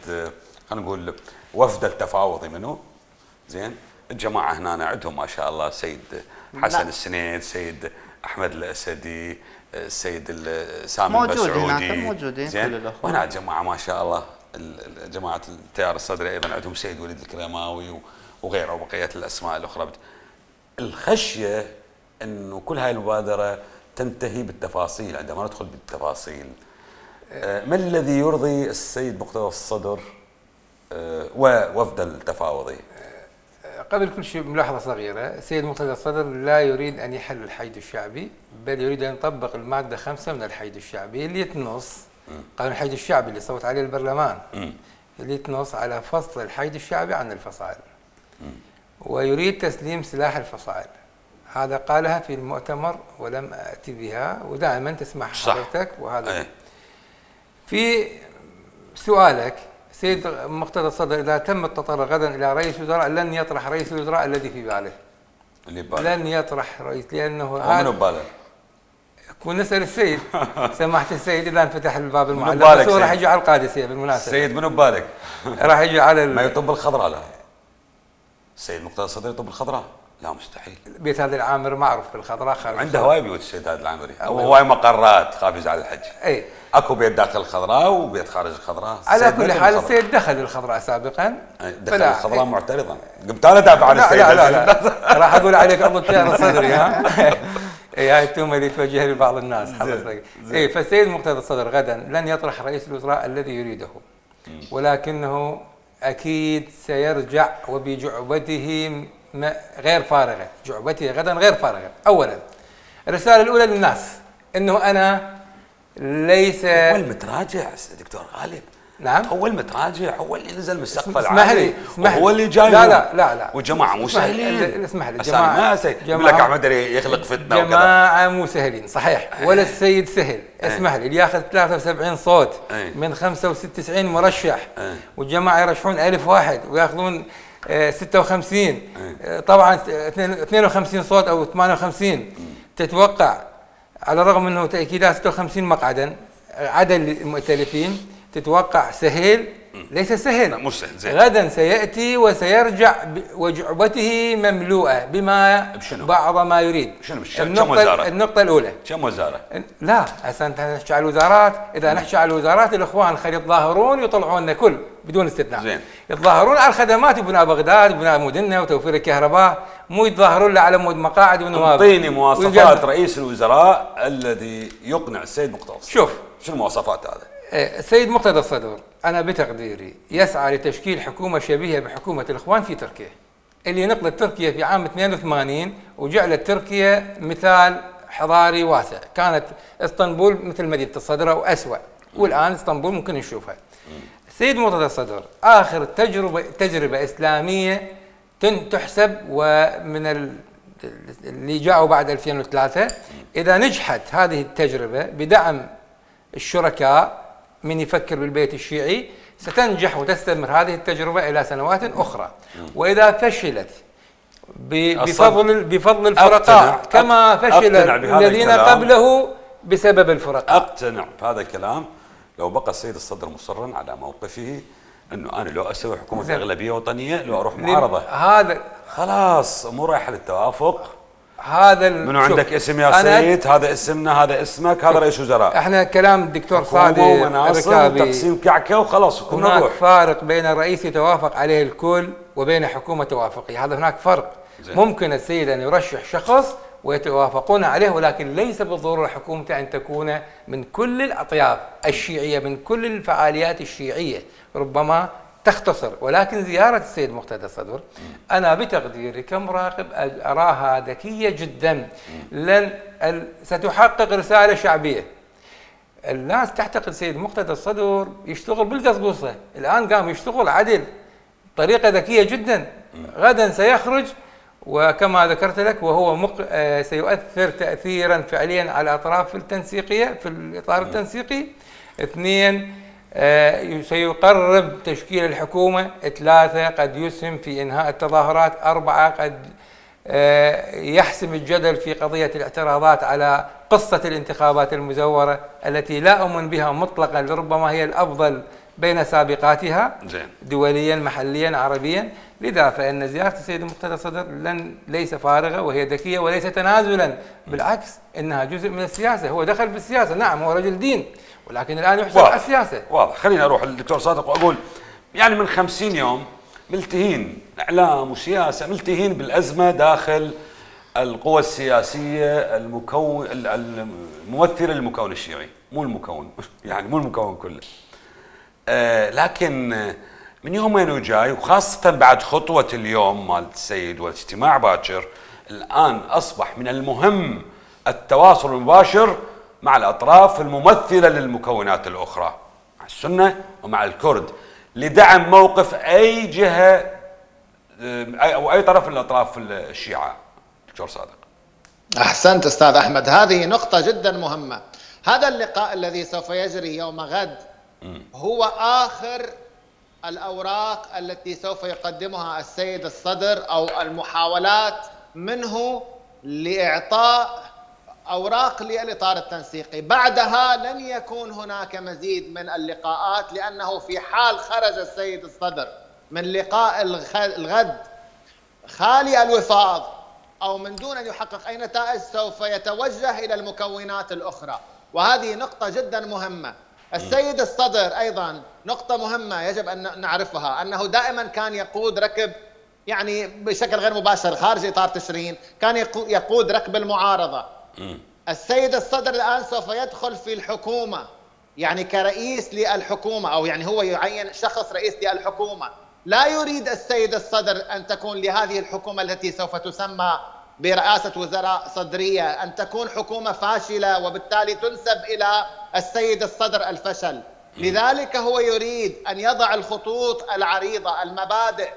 S1: خلينا نقول وفد التفاوضي منه. زين، الجماعه هنا عندهم ما شاء الله السيد حسن السنيد، السيد احمد الاسدي، السيد سامي المسعودي
S4: موجودين كل الاخوه،
S1: وهنا جماعه ما شاء الله جماعه التيار الصدري ايضا عندهم سيد وليد الكريماوي وغيره وبقيه الاسماء الاخرى. الخشيه انه كل هاي المبادره تنتهي بالتفاصيل. عندما ندخل بالتفاصيل، ما الذي يرضي السيد مقتدى الصدر ووفد التفاوضي؟
S5: قبل كل شيء ملاحظه صغيره، السيد مقتدى الصدر لا يريد ان يحل الحيد الشعبي، بل يريد ان يطبق الماده 5 من الحيد الشعبي اللي تنص قانون الحيد الشعبي اللي صوت عليه البرلمان، اللي تنص على فصل الحيد الشعبي عن الفصائل، ويريد تسليم سلاح الفصائل. هذا قالها في المؤتمر ولم اتي بها، ودائما تسمع حضرتك. وهذا في سؤالك سيد مقتدى الصدر، اذا تم التطرق غدا الى رئيس الوزراء لن يطرح رئيس الوزراء الذي في باله. لن يطرح رئيس، لانه
S1: هذا منو بباله؟
S5: كون نسال السيد سماحه السيد اذا انفتح الباب المعلق، بس هو راح يجي على القادسيه بالمناسبه.
S1: السيد منو ببالك؟
S5: راح يجي على
S1: ما يطب الخضراء. لا السيد مقتدى الصدر يطب الخضراء؟ لا مستحيل.
S5: بيت هذا العامر معروف بالخضراء، خارج
S1: عنده هواي بيوت السيد هذا العامري، هواي مقرات، خاف يزعل الحج.
S5: اي
S1: اكو بيت داخل الخضراء وبيت خارج الخضراء.
S5: على كل حال السيد دخل الخضراء سابقا،
S1: دخل الخضراء معترضا. قمت انا دافع عن السيد.
S5: لا راح اقول عليك عضو التيار الصدري. ها هاي التهمه اللي توجهها لبعض الناس حضرتك. فالسيد مقتدى الصدر غدا لن يطرح رئيس الوزراء الذي يريده، ولكنه اكيد سيرجع وبجعبته غير فارغه، جعبته غدا غير فارغه. اولا الرساله الاولى للناس انه انا ليس
S1: هو المتراجع دكتور غالب.
S5: نعم
S1: هو المتراجع، هو اللي نزل من السقف العالي، هو اللي جاي.
S5: لا
S1: والجماعه مو سهلين.
S5: اسمح لي،
S1: جماعه يقول لك احمد يخلق فتنه وكذا.
S5: جماعه مو سهلين صحيح، ولا السيد سهل. اسمح لي، اللي ياخذ 73 صوت من 95 مرشح، والجماعه يرشحون 1000 واحد وياخذون 56 طبعا 52 صوت او 58. تتوقع على الرغم انه تاكيدات 56 مقعدا عدد المؤتلفين، تتوقع سهل؟ ليس سهل.
S1: لا مو سهل. زين.
S5: غدا سياتي وسيرجع وجعبته مملوءه بما بعض ما يريد. النقطه الاولى
S1: كم وزاره؟
S5: لا هسه انت نحكي على الوزارات. اذا نحكي على الوزارات، الاخوان خلي يتظاهرون ويطلعون كل بدون استثناء.
S1: زين.
S5: يتظاهرون على الخدمات وبناء بغداد وبناء مدننا وتوفير الكهرباء، مو يتظاهرون لا على مود مقاعد ونواب.
S1: اعطيني مواصفات رئيس الوزراء الذي يقنع السيد مقتدى.
S5: شوف
S1: شنو المواصفات هذا؟
S5: السيد مقتدى الصدر أنا بتقديري يسعى لتشكيل حكومة شبيهة بحكومة الإخوان في تركيا، اللي نقلت تركيا في عام 82 وجعلت تركيا مثال حضاري واسع. كانت اسطنبول مثل مدينة الصدر أو أسوأ، والآن اسطنبول ممكن نشوفها. السيد مقتدى الصدر آخر تجربة إسلامية تحسب، ومن اللي جاءوا بعد 2003 إذا نجحت هذه التجربة بدعم الشركاء من يفكر بالبيت الشيعي، ستنجح وتستمر هذه التجربة إلى سنوات أخرى. وإذا فشلت بفضل الفرقاء كما فشل الذين قبله بسبب الفرقاء.
S1: أقتنع بهذا الكلام لو بقى السيد الصدر مصرا على موقفه انه انا لو اسوي حكومه اغلبيه وطنيه لو اروح معارضه،
S5: هذا
S1: خلاص مو رايحه للتوافق.
S5: هذا
S1: منو عندك اسم يا سيد؟ هذا اسمنا، هذا اسمك، هذا رئيس وزراء.
S5: احنا كلام الدكتور صادق
S1: الركابي تقسيم كعكه وخلاص.
S5: هناك فارق بين رئيس يتوافق عليه الكل وبين حكومه توافقيه، هذا هناك فرق. ممكن السيد ان يرشح شخص ويتوافقون عليه، ولكن ليس بالضروره حكومته ان تكون من كل الاطياف الشيعيه، من كل الفعاليات الشيعيه، ربما تختصر. ولكن زياره السيد مقتدى الصدر انا بتقديري كمراقب اراها ذكيه جدا، ستحقق رساله شعبيه. الناس تعتقد السيد مقتدى الصدر يشتغل بالقصقصه، الان قام يشتغل عدل طريقه ذكيه جدا. غدا سيخرج وكما ذكرت لك وهو سيؤثر تأثيرا فعليا على الأطراف التنسيقية في الإطار التنسيقي. 2 سيقرب تشكيل الحكومة. 3 قد يسهم في إنهاء التظاهرات. 4 قد يحسم الجدل في قضية الاعتراضات على قصة الانتخابات المزورة التي لا أؤمن بها مطلقا، لربما هي الأفضل بين سابقاتها دوليا محليا عربيا. لذا فإن زيارة السيد مقتدى الصدر ليس فارغة وهي ذكية وليس تنازلا، بالعكس إنها جزء من السياسة. هو دخل بالسياسة، نعم هو رجل دين، ولكن الآن يحسب على السياسة.
S1: واضح. خليني أروح للدكتور صادق وأقول يعني من 50 يوم ملتهين إعلام وسياسة، ملتهين بالأزمة داخل القوى السياسية الممثلة للمكون الشيعي، مو المكون يعني مو المكون كله. لكن من يومين وجاي، وخاصة بعد خطوة اليوم مال السيد والاجتماع باكر، الآن أصبح من المهم التواصل المباشر مع الأطراف الممثلة للمكونات الأخرى، مع السنة ومع الكرد، لدعم موقف أي جهة أو أي طرف من الأطراف الشيعة. دكتور صادق.
S3: أحسنت أستاذ أحمد، هذه نقطة جدا مهمة. هذا اللقاء الذي سوف يجري يوم غد هو آخر الأوراق التي سوف يقدمها السيد الصدر أو المحاولات منه لإعطاء أوراق للإطار التنسيقي. بعدها لن يكون هناك مزيد من اللقاءات، لأنه في حال خرج السيد الصدر من لقاء الغد خالي الوفاض أو من دون أن يحقق أي نتائج سوف يتوجه إلى المكونات الأخرى، وهذه نقطة جدا مهمة. السيد الصدر أيضا نقطة مهمة يجب أن نعرفها، أنه دائما كان يقود ركب يعني بشكل غير مباشر خارج إطار تشرين، كان يقود ركب المعارضة. السيد الصدر الآن سوف يدخل في الحكومة يعني كرئيس للحكومة، أو يعني هو يعين شخص رئيس للحكومة. لا يريد السيد الصدر أن تكون لهذه الحكومة التي سوف تسمى برئاسة وزراء صدرية أن تكون حكومة فاشلة وبالتالي تنسب إلى السيد الصدر الفشل. لذلك هو يريد أن يضع الخطوط العريضة، المبادئ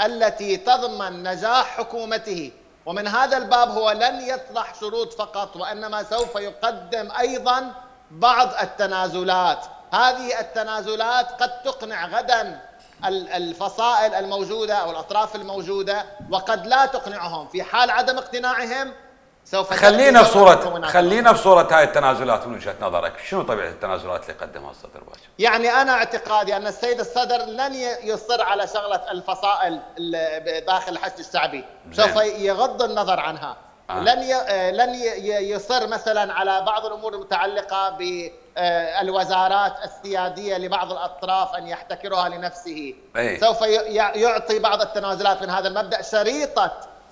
S3: التي تضمن نجاح حكومته، ومن هذا الباب هو لن يطرح شروط فقط، وإنما سوف يقدم أيضا بعض التنازلات. هذه التنازلات قد تقنع غدا الفصائل الموجودة أو الأطراف الموجودة، وقد لا تقنعهم. في حال عدم اقتناعهم سوف
S1: خلينا في صورة هاي التنازلات من وجهة نظرك، شنو طبيعة التنازلات اللي قدمها الصدر باكر؟
S3: يعني أنا اعتقادي أن السيد الصدر لن يصر على شغلة الفصائل داخل الحشد الشعبي، سوف يغض النظر عنها. لن يصر مثلا على بعض الأمور المتعلقة بالوزارات السيادية لبعض الأطراف أن يحتكرها لنفسه. سوف يعطي بعض التنازلات من هذا المبدأ،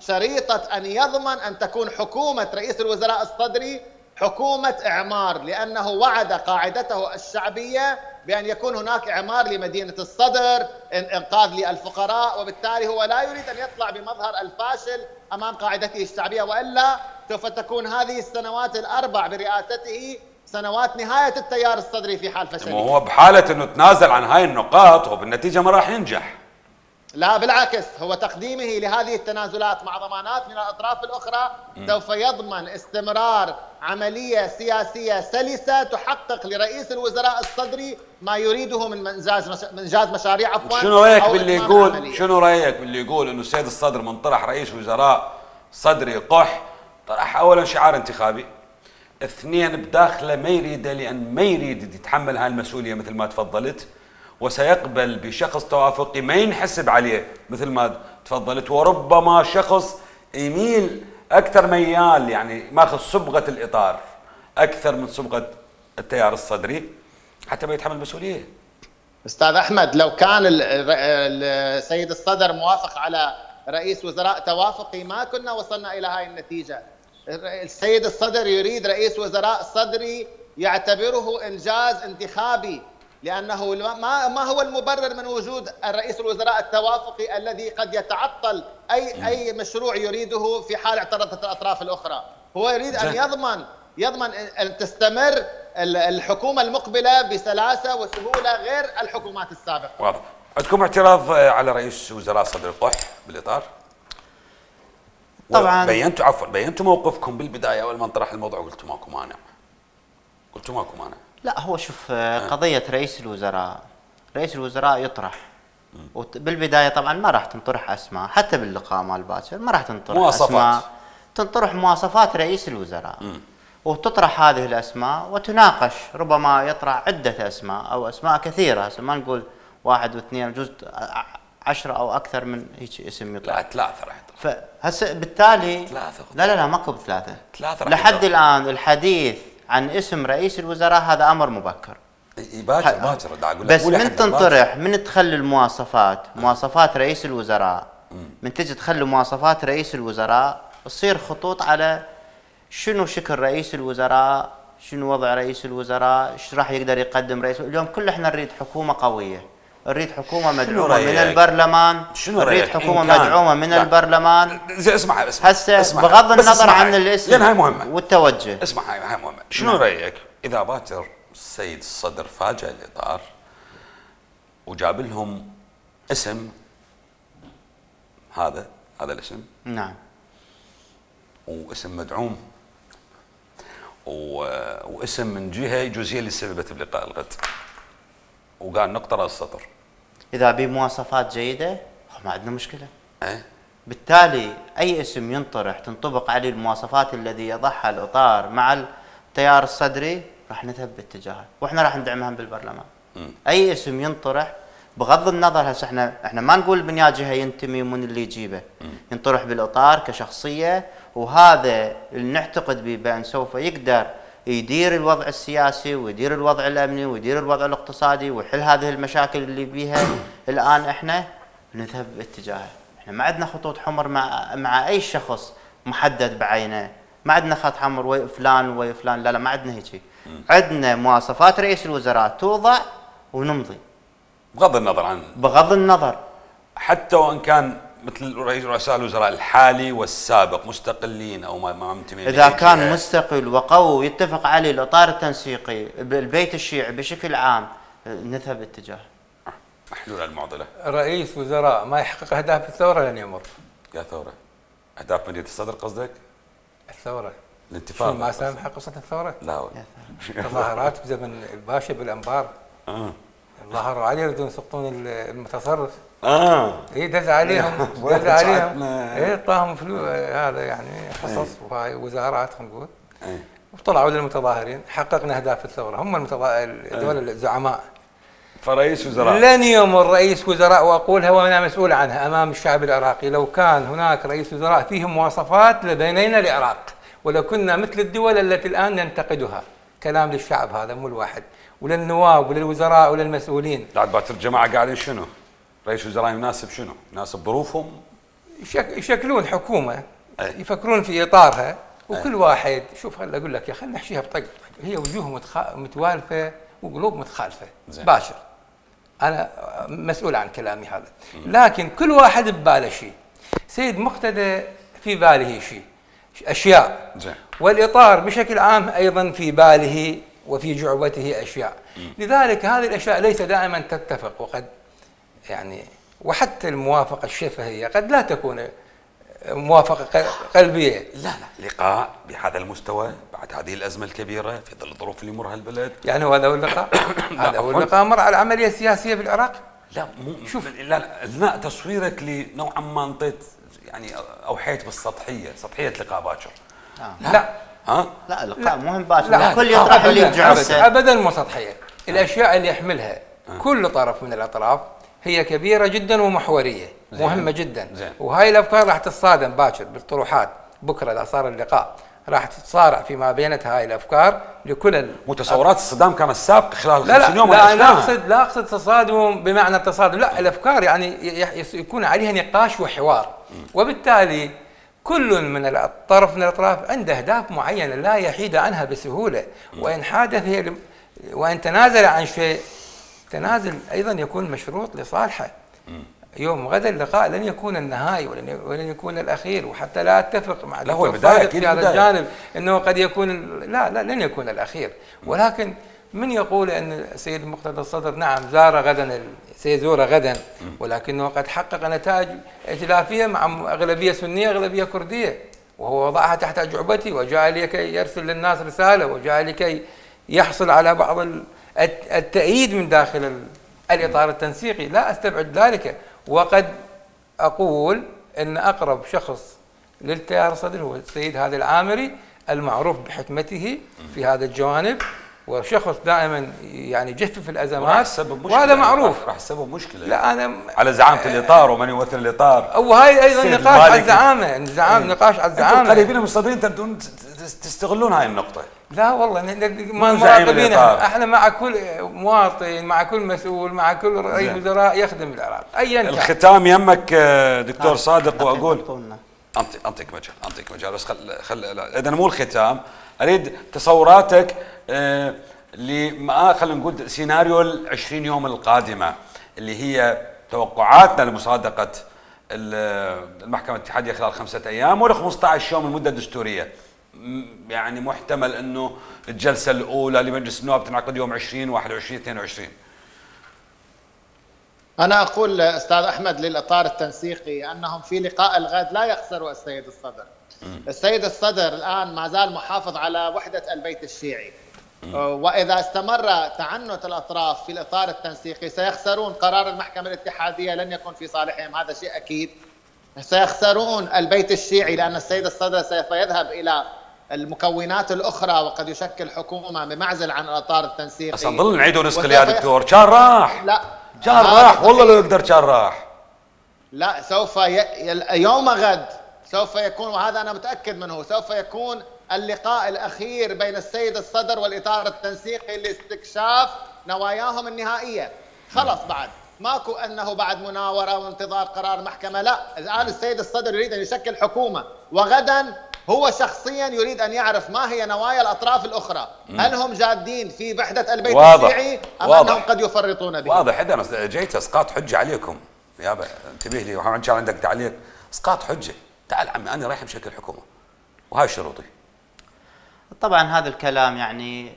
S3: شريطة أن يضمن أن تكون حكومة رئيس الوزراء الصدري حكومة إعمار، لأنه وعد قاعدته الشعبية بأن يكون هناك إعمار لمدينة الصدر، إنقاذ للفقراء، وبالتالي هو لا يريد أن يطلع بمظهر الفاشل أمام قاعدته الشعبية، وإلا سوف تكون هذه السنوات الأربع برئاسته سنوات نهاية التيار الصدري في حال فشله.
S1: هو بحالة أنه تنازل عن هاي النقاط وبالنتيجة ما راح ينجح.
S3: لا بالعكس، هو تقديمه لهذه التنازلات مع ضمانات من الأطراف الأخرى سوف يضمن استمرار عملية سياسية سلسة تحقق لرئيس الوزراء الصدري ما يريده من إنجاز مشاريع.
S1: شنو رأيك باللي يقول إنه السيد الصدر من طرح رئيس وزراء صدري قح، طرح أولا شعار انتخابي، اثنين بداخله ما يريده لأن ما يريد يتحمل هاي المسؤولية مثل ما تفضلت، وسيقبل بشخص توافقي ما ينحسب عليه مثل ما تفضلت، وربما شخص يميل أكثر ميال يعني ماخذ صبغة الإطار أكثر من صبغة التيار الصدري حتى ما يتحمل المسؤولية.
S3: أستاذ أحمد، لو كان السيد الصدر موافق على رئيس وزراء توافقي ما كنا وصلنا إلى هاي النتيجة. السيد الصدر يريد رئيس وزراء صدري يعتبره إنجاز انتخابي، لأنه ما هو المبرر من وجود الرئيس الوزراء التوافقي الذي قد يتعطل أي مشروع يريده في حال اعترضت الأطراف الأخرى. هو يريد أن يضمن أن تستمر الحكومة المقبلة بسلاسة وسهولة غير الحكومات السابقة.
S1: واضح. عندكم اعتراض على رئيس وزراء صدر القح بالإطار؟
S4: طبعا
S1: بينتوا موقفكم بالبداية أول ما انطرح الموضوع، قلتوا ماكو مانع.
S4: لا هو شوف، قضية رئيس الوزراء يطرح، وبالبداية طبعا ما راح تنطرح أسماء، حتى باللقاء مال باكر ما راح تنطرح أسماء، تنطرح مواصفات رئيس الوزراء وتطرح هذه الأسماء وتناقش. ربما يطرح عدة أسماء أو أسماء كثيرة، ما نقول واحد واثنين، جزء 10 أو أكثر من هيك اسم يطرح.
S1: لا 3 راح يطرح.
S4: فهسه بالتالي
S1: 3
S4: لا ماكو ب3 لحد الآن الحديث عن اسم رئيس الوزراء هذا امر مبكر.
S1: باكر
S4: بس من تنطرح، من تخلي المواصفات مواصفات رئيس الوزراء، من تجي تخلي مواصفات رئيس الوزراء تصير خطوط على شنو شكل رئيس الوزراء، شنو وضع رئيس الوزراء، ايش راح يقدر يقدم رئيس. اليوم كل احنا نريد حكومه قويه، نريد حكومه مدعومه من البرلمان، نريد حكومه مدعومه من البرلمان.
S1: اسمع
S4: هسه بغض النظر عن الاسم
S1: لان هاي مهمه
S4: والتوجه.
S1: اسمع هاي مهمه. شنو رايك اذا باكر السيد الصدر فاجأ الاطار وجاب لهم اسم، هذا الاسم
S4: نعم،
S1: واسم مدعوم واسم من جهه جزئيه اللي سببت بلقاء الغد، وقال نقطه راس السطر،
S4: اذا بمواصفات جيده ما عندنا مشكله. بالتالي اي اسم ينطرح تنطبق عليه المواصفات الذي يضعها الاطار مع التيار الصدري راح نذهب باتجاهه، واحنا راح ندعمها بالبرلمان. اي اسم ينطرح بغض النظر، هسه احنا ما نقول من يا جهه ينتمي ومن اللي يجيبه، ينطرح بالاطار كشخصيه، وهذا اللي نعتقد به بان سوف يقدر يدير الوضع السياسي ويدير الوضع الامني ويدير الوضع الاقتصادي ويحل هذه المشاكل اللي بيها الان. احنا نذهب باتجاهه، احنا ما عندنا خطوط حمر مع اي شخص محدد بعينه، ما عندنا خط حمر ويا فلان ويا فلان، لا ما عندنا هيك. عندنا مواصفات رئيس الوزراء توضع ونمضي
S1: بغض النظر
S4: حتى
S1: وان كان مثل رؤساء الوزراء الحالي والسابق مستقلين او ما منتمين،
S4: اذا كان مستقل وقوي ويتفق عليه الاطار التنسيقي البيت الشيعي بشكل عام، نذهب اتجاه
S1: محلول المعضله.
S5: رئيس وزراء ما يحقق اهداف الثوره لن يمر.
S1: يا ثوره اهداف مدينه الصدر قصدك؟
S5: الثوره
S1: الانتفاضه
S5: ما سامح قصه الثوره؟
S1: لا
S5: تظاهرات بزمن الباشا بالانبار ظهروا عليه يريدون يسقطون المتصرف. اي دز عليهم اي اعطاهم فلوس، هذا يعني حصص وهاي وزارات خلينا نقول. وطلعوا للمتظاهرين حققنا اهداف الثوره، هم دول الزعماء.
S1: فرئيس وزراء
S5: لن يمر رئيس وزراء، واقولها وانا مسؤول عنها امام الشعب العراقي، لو كان هناك رئيس وزراء فيه مواصفات لبنينا العراق ولو كنا مثل الدول التي الان ننتقدها. كلام للشعب هذا مو الواحد، وللنواب وللوزراء وللمسؤولين.
S1: بعد باكر الجماعه قاعدين شنو؟ رئيس وزراء يناسب شنو؟ يناسب ظروفهم؟
S5: يشكلون حكومه يفكرون في اطارها، وكل واحد شوف هلا اقول لك يا خلينا نحشيها بطق، هي وجوه متوالفه وقلوب متخالفه. باشر انا مسؤول عن كلامي هذا، لكن كل واحد بباله شيء. سيد مقتدى في باله شيء، اشياء، والاطار بشكل عام ايضا في باله وفي جعبته اشياء. لذلك هذه الاشياء ليس دائما تتفق، وقد يعني وحتى الموافقة الشفهية قد لا تكون موافقة قلبية.
S1: لا لقاء بهذا المستوى بعد هذه الأزمة الكبيرة في ظل الظروف اللي يمرها البلد.
S5: يعني هذا هو اللقاء؟ هذا هو اللقاء مر على العملية السياسية في العراق؟
S1: لا شوف لا تصويرك لنوعا ما انطيت يعني اوحيت بالسطحيه، سطحيه لقاء باكر.
S4: لا اللقاء مهم باكر، الكل يطرح اللي يرجع
S5: ابدا مو سطحيه. الاشياء اللي يحملها كل طرف من الاطراف هي كبيره جدا ومحوريه، مهمه جدا. وهاي الافكار راح تتصادم باكر بالطروحات. بكره اذا صار اللقاء راح تتصارع فيما بينتها هاي الافكار لكل
S1: متصورات الصدام كان السابق خلال 50 يوم.
S5: لا اقصد تصادم بمعنى التصادم، لا الافكار يعني يكون عليها نقاش وحوار، وبالتالي كل من الطرف من الاطراف عنده اهداف معينه لا يحيد عنها بسهوله، وان حادث هي وان تنازل عن شيء، تنازل ايضا يكون مشروط لصالحه. يوم غدا اللقاء لن يكون النهائي ولن يكون الاخير، وحتى لا اتفق مع
S1: الدكتور صادق
S5: في هذا الجانب انه قد يكون لا لن يكون الاخير. ولكن من يقول ان السيد مقتدى الصدر نعم زار غدا، سيزور غدا، ولكنه قد حقق نتائج ائتلافيه مع اغلبيه سنيه اغلبيه كرديه، وهو وضعها تحت جعبته وجاء لكي يرسل للناس رساله، وجاء لكي يحصل على بعض التأييد من داخل الاطار التنسيقي. لا استبعد ذلك، وقد أقول أن أقرب شخص للتيار الصدري هو السيد هادي العامري المعروف بحكمته في هذا الجوانب، وشخص دائما يعني يجفف الأزمات، وهذا معروف.
S1: راح تسبب مشكلة.
S5: لا أنا
S1: على زعامة الإطار ومن يمثل الإطار،
S5: وهي أيضا نقاش على الزعامة، نقاش على الزعامة.
S1: قريبين من الصدرين تبدون تستغلون هاي النقطة.
S5: لا والله ما مراقبين، احنا مع كل مواطن، مع كل مسؤول، مع كل رئيس وزراء يخدم العراق ايا كان.
S1: الختام يمك دكتور صادق، واقول انطيك مجال بس اذا مو الختام، اريد تصوراتك خلينا نقول سيناريو ال20 يوم القادمه اللي هي توقعاتنا لمصادقه المحكمه الاتحاديه خلال 5 أيام ولا 15 يوم المده الدستوريه. يعني محتمل انه الجلسه الاولى لمجلس النواب تنعقد يوم 20 21 22.
S3: انا اقول استاذ احمد للاطار التنسيقي انهم في لقاء الغد لا يخسروا السيد الصدر. السيد الصدر الان ما زال محافظ على وحده البيت الشيعي، واذا استمر تعنت الاطراف في الاطار التنسيقي سيخسرون قرار المحكمه الاتحاديه، لن يكون في صالحهم، هذا شيء اكيد. سيخسرون البيت الشيعي لان السيد الصدر سوف يذهب الى المكونات الاخرى وقد يشكل حكومه بمعزل عن الاطار التنسيقي.
S1: بس نضل نعيد ونسقل يا دكتور، كان راح.
S3: لا
S1: كان راح والله لو يقدر كان راح.
S3: لا سوف يوم غد سوف يكون، وهذا انا متاكد منه، سوف يكون اللقاء الاخير بين السيد الصدر والاطار التنسيقي لاستكشاف نواياهم النهائيه. خلص بعد ماكو انه بعد مناوره وانتظار قرار محكمه، لا، الان السيد الصدر يريد ان يشكل حكومه، وغدا هو شخصيا يريد ان يعرف ما هي نوايا الاطراف الاخرى، هل هم جادين في وحده البيت الشيعي ام انهم قد يفرطون به؟
S1: واضح. انا جيت اسقاط حجه عليكم يابا، انتبه لي، وان شاء الله عندك تعليق. اسقاط حجه، تعال عمي انا رايح بشكل حكومه وهاي شروطي.
S4: طبعا هذا الكلام يعني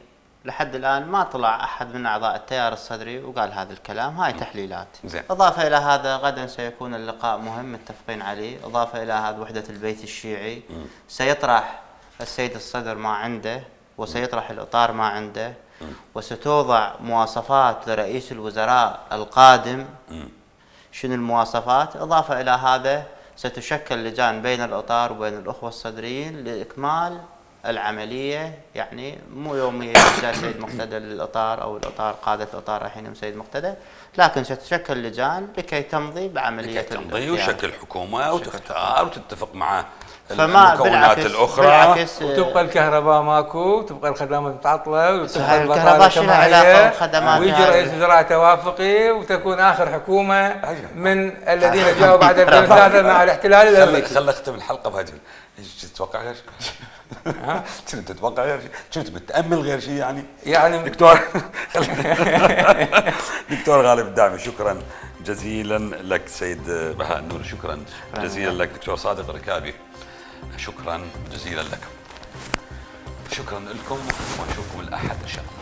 S4: لحد الان ما طلع احد من اعضاء التيار الصدري وقال هذا الكلام، هاي تحليلات.
S1: زين.
S4: اضافه الى هذا غدا سيكون اللقاء مهم متفقين عليه، اضافه الى هذا وحده البيت الشيعي. سيطرح السيد الصدر ما عنده، وسيطرح الاطار ما عنده، وستوضع مواصفات لرئيس الوزراء القادم. شنو المواصفات؟ اضافه الى هذا ستشكل لجان بين الاطار وبين الاخوه الصدريين لاكمال العمليه، يعني مو يوميا جاء سيد مقتدى للاطار او الاطار قاده الاطار رايحين يوم سيد مقتدى، لكن ستشكل لجان لكي تمضي بعمليه
S1: تمضي وشكل حكومه وتختار وتتفق مع
S4: فما
S1: المكونات الاخرى،
S5: وتبقى الكهرباء ماكو، تبقى الخدمات متعطله، وتبقى
S4: الكهرباء شنو علاقه بالخدمات،
S5: ويجي رئيس وزراء توافقي وتكون اخر حكومه من الذين جاءوا بعد 2003 مع الاحتلال الامريكي.
S1: خلينا نختم الحلقه بهجل. ايش تتوقع غير شيء؟ كنت تتوقع غير شيء؟ كنت متامل غير شيء يعني دكتور دكتور غالب الدعمي، شكرا جزيلا لك. سيد بهاء النوري شكرا جزيلا لك. دكتور صادق الركابي شكرا جزيلا لكم. شكرا لكم ونشوفكم الأحد إن شاء الله.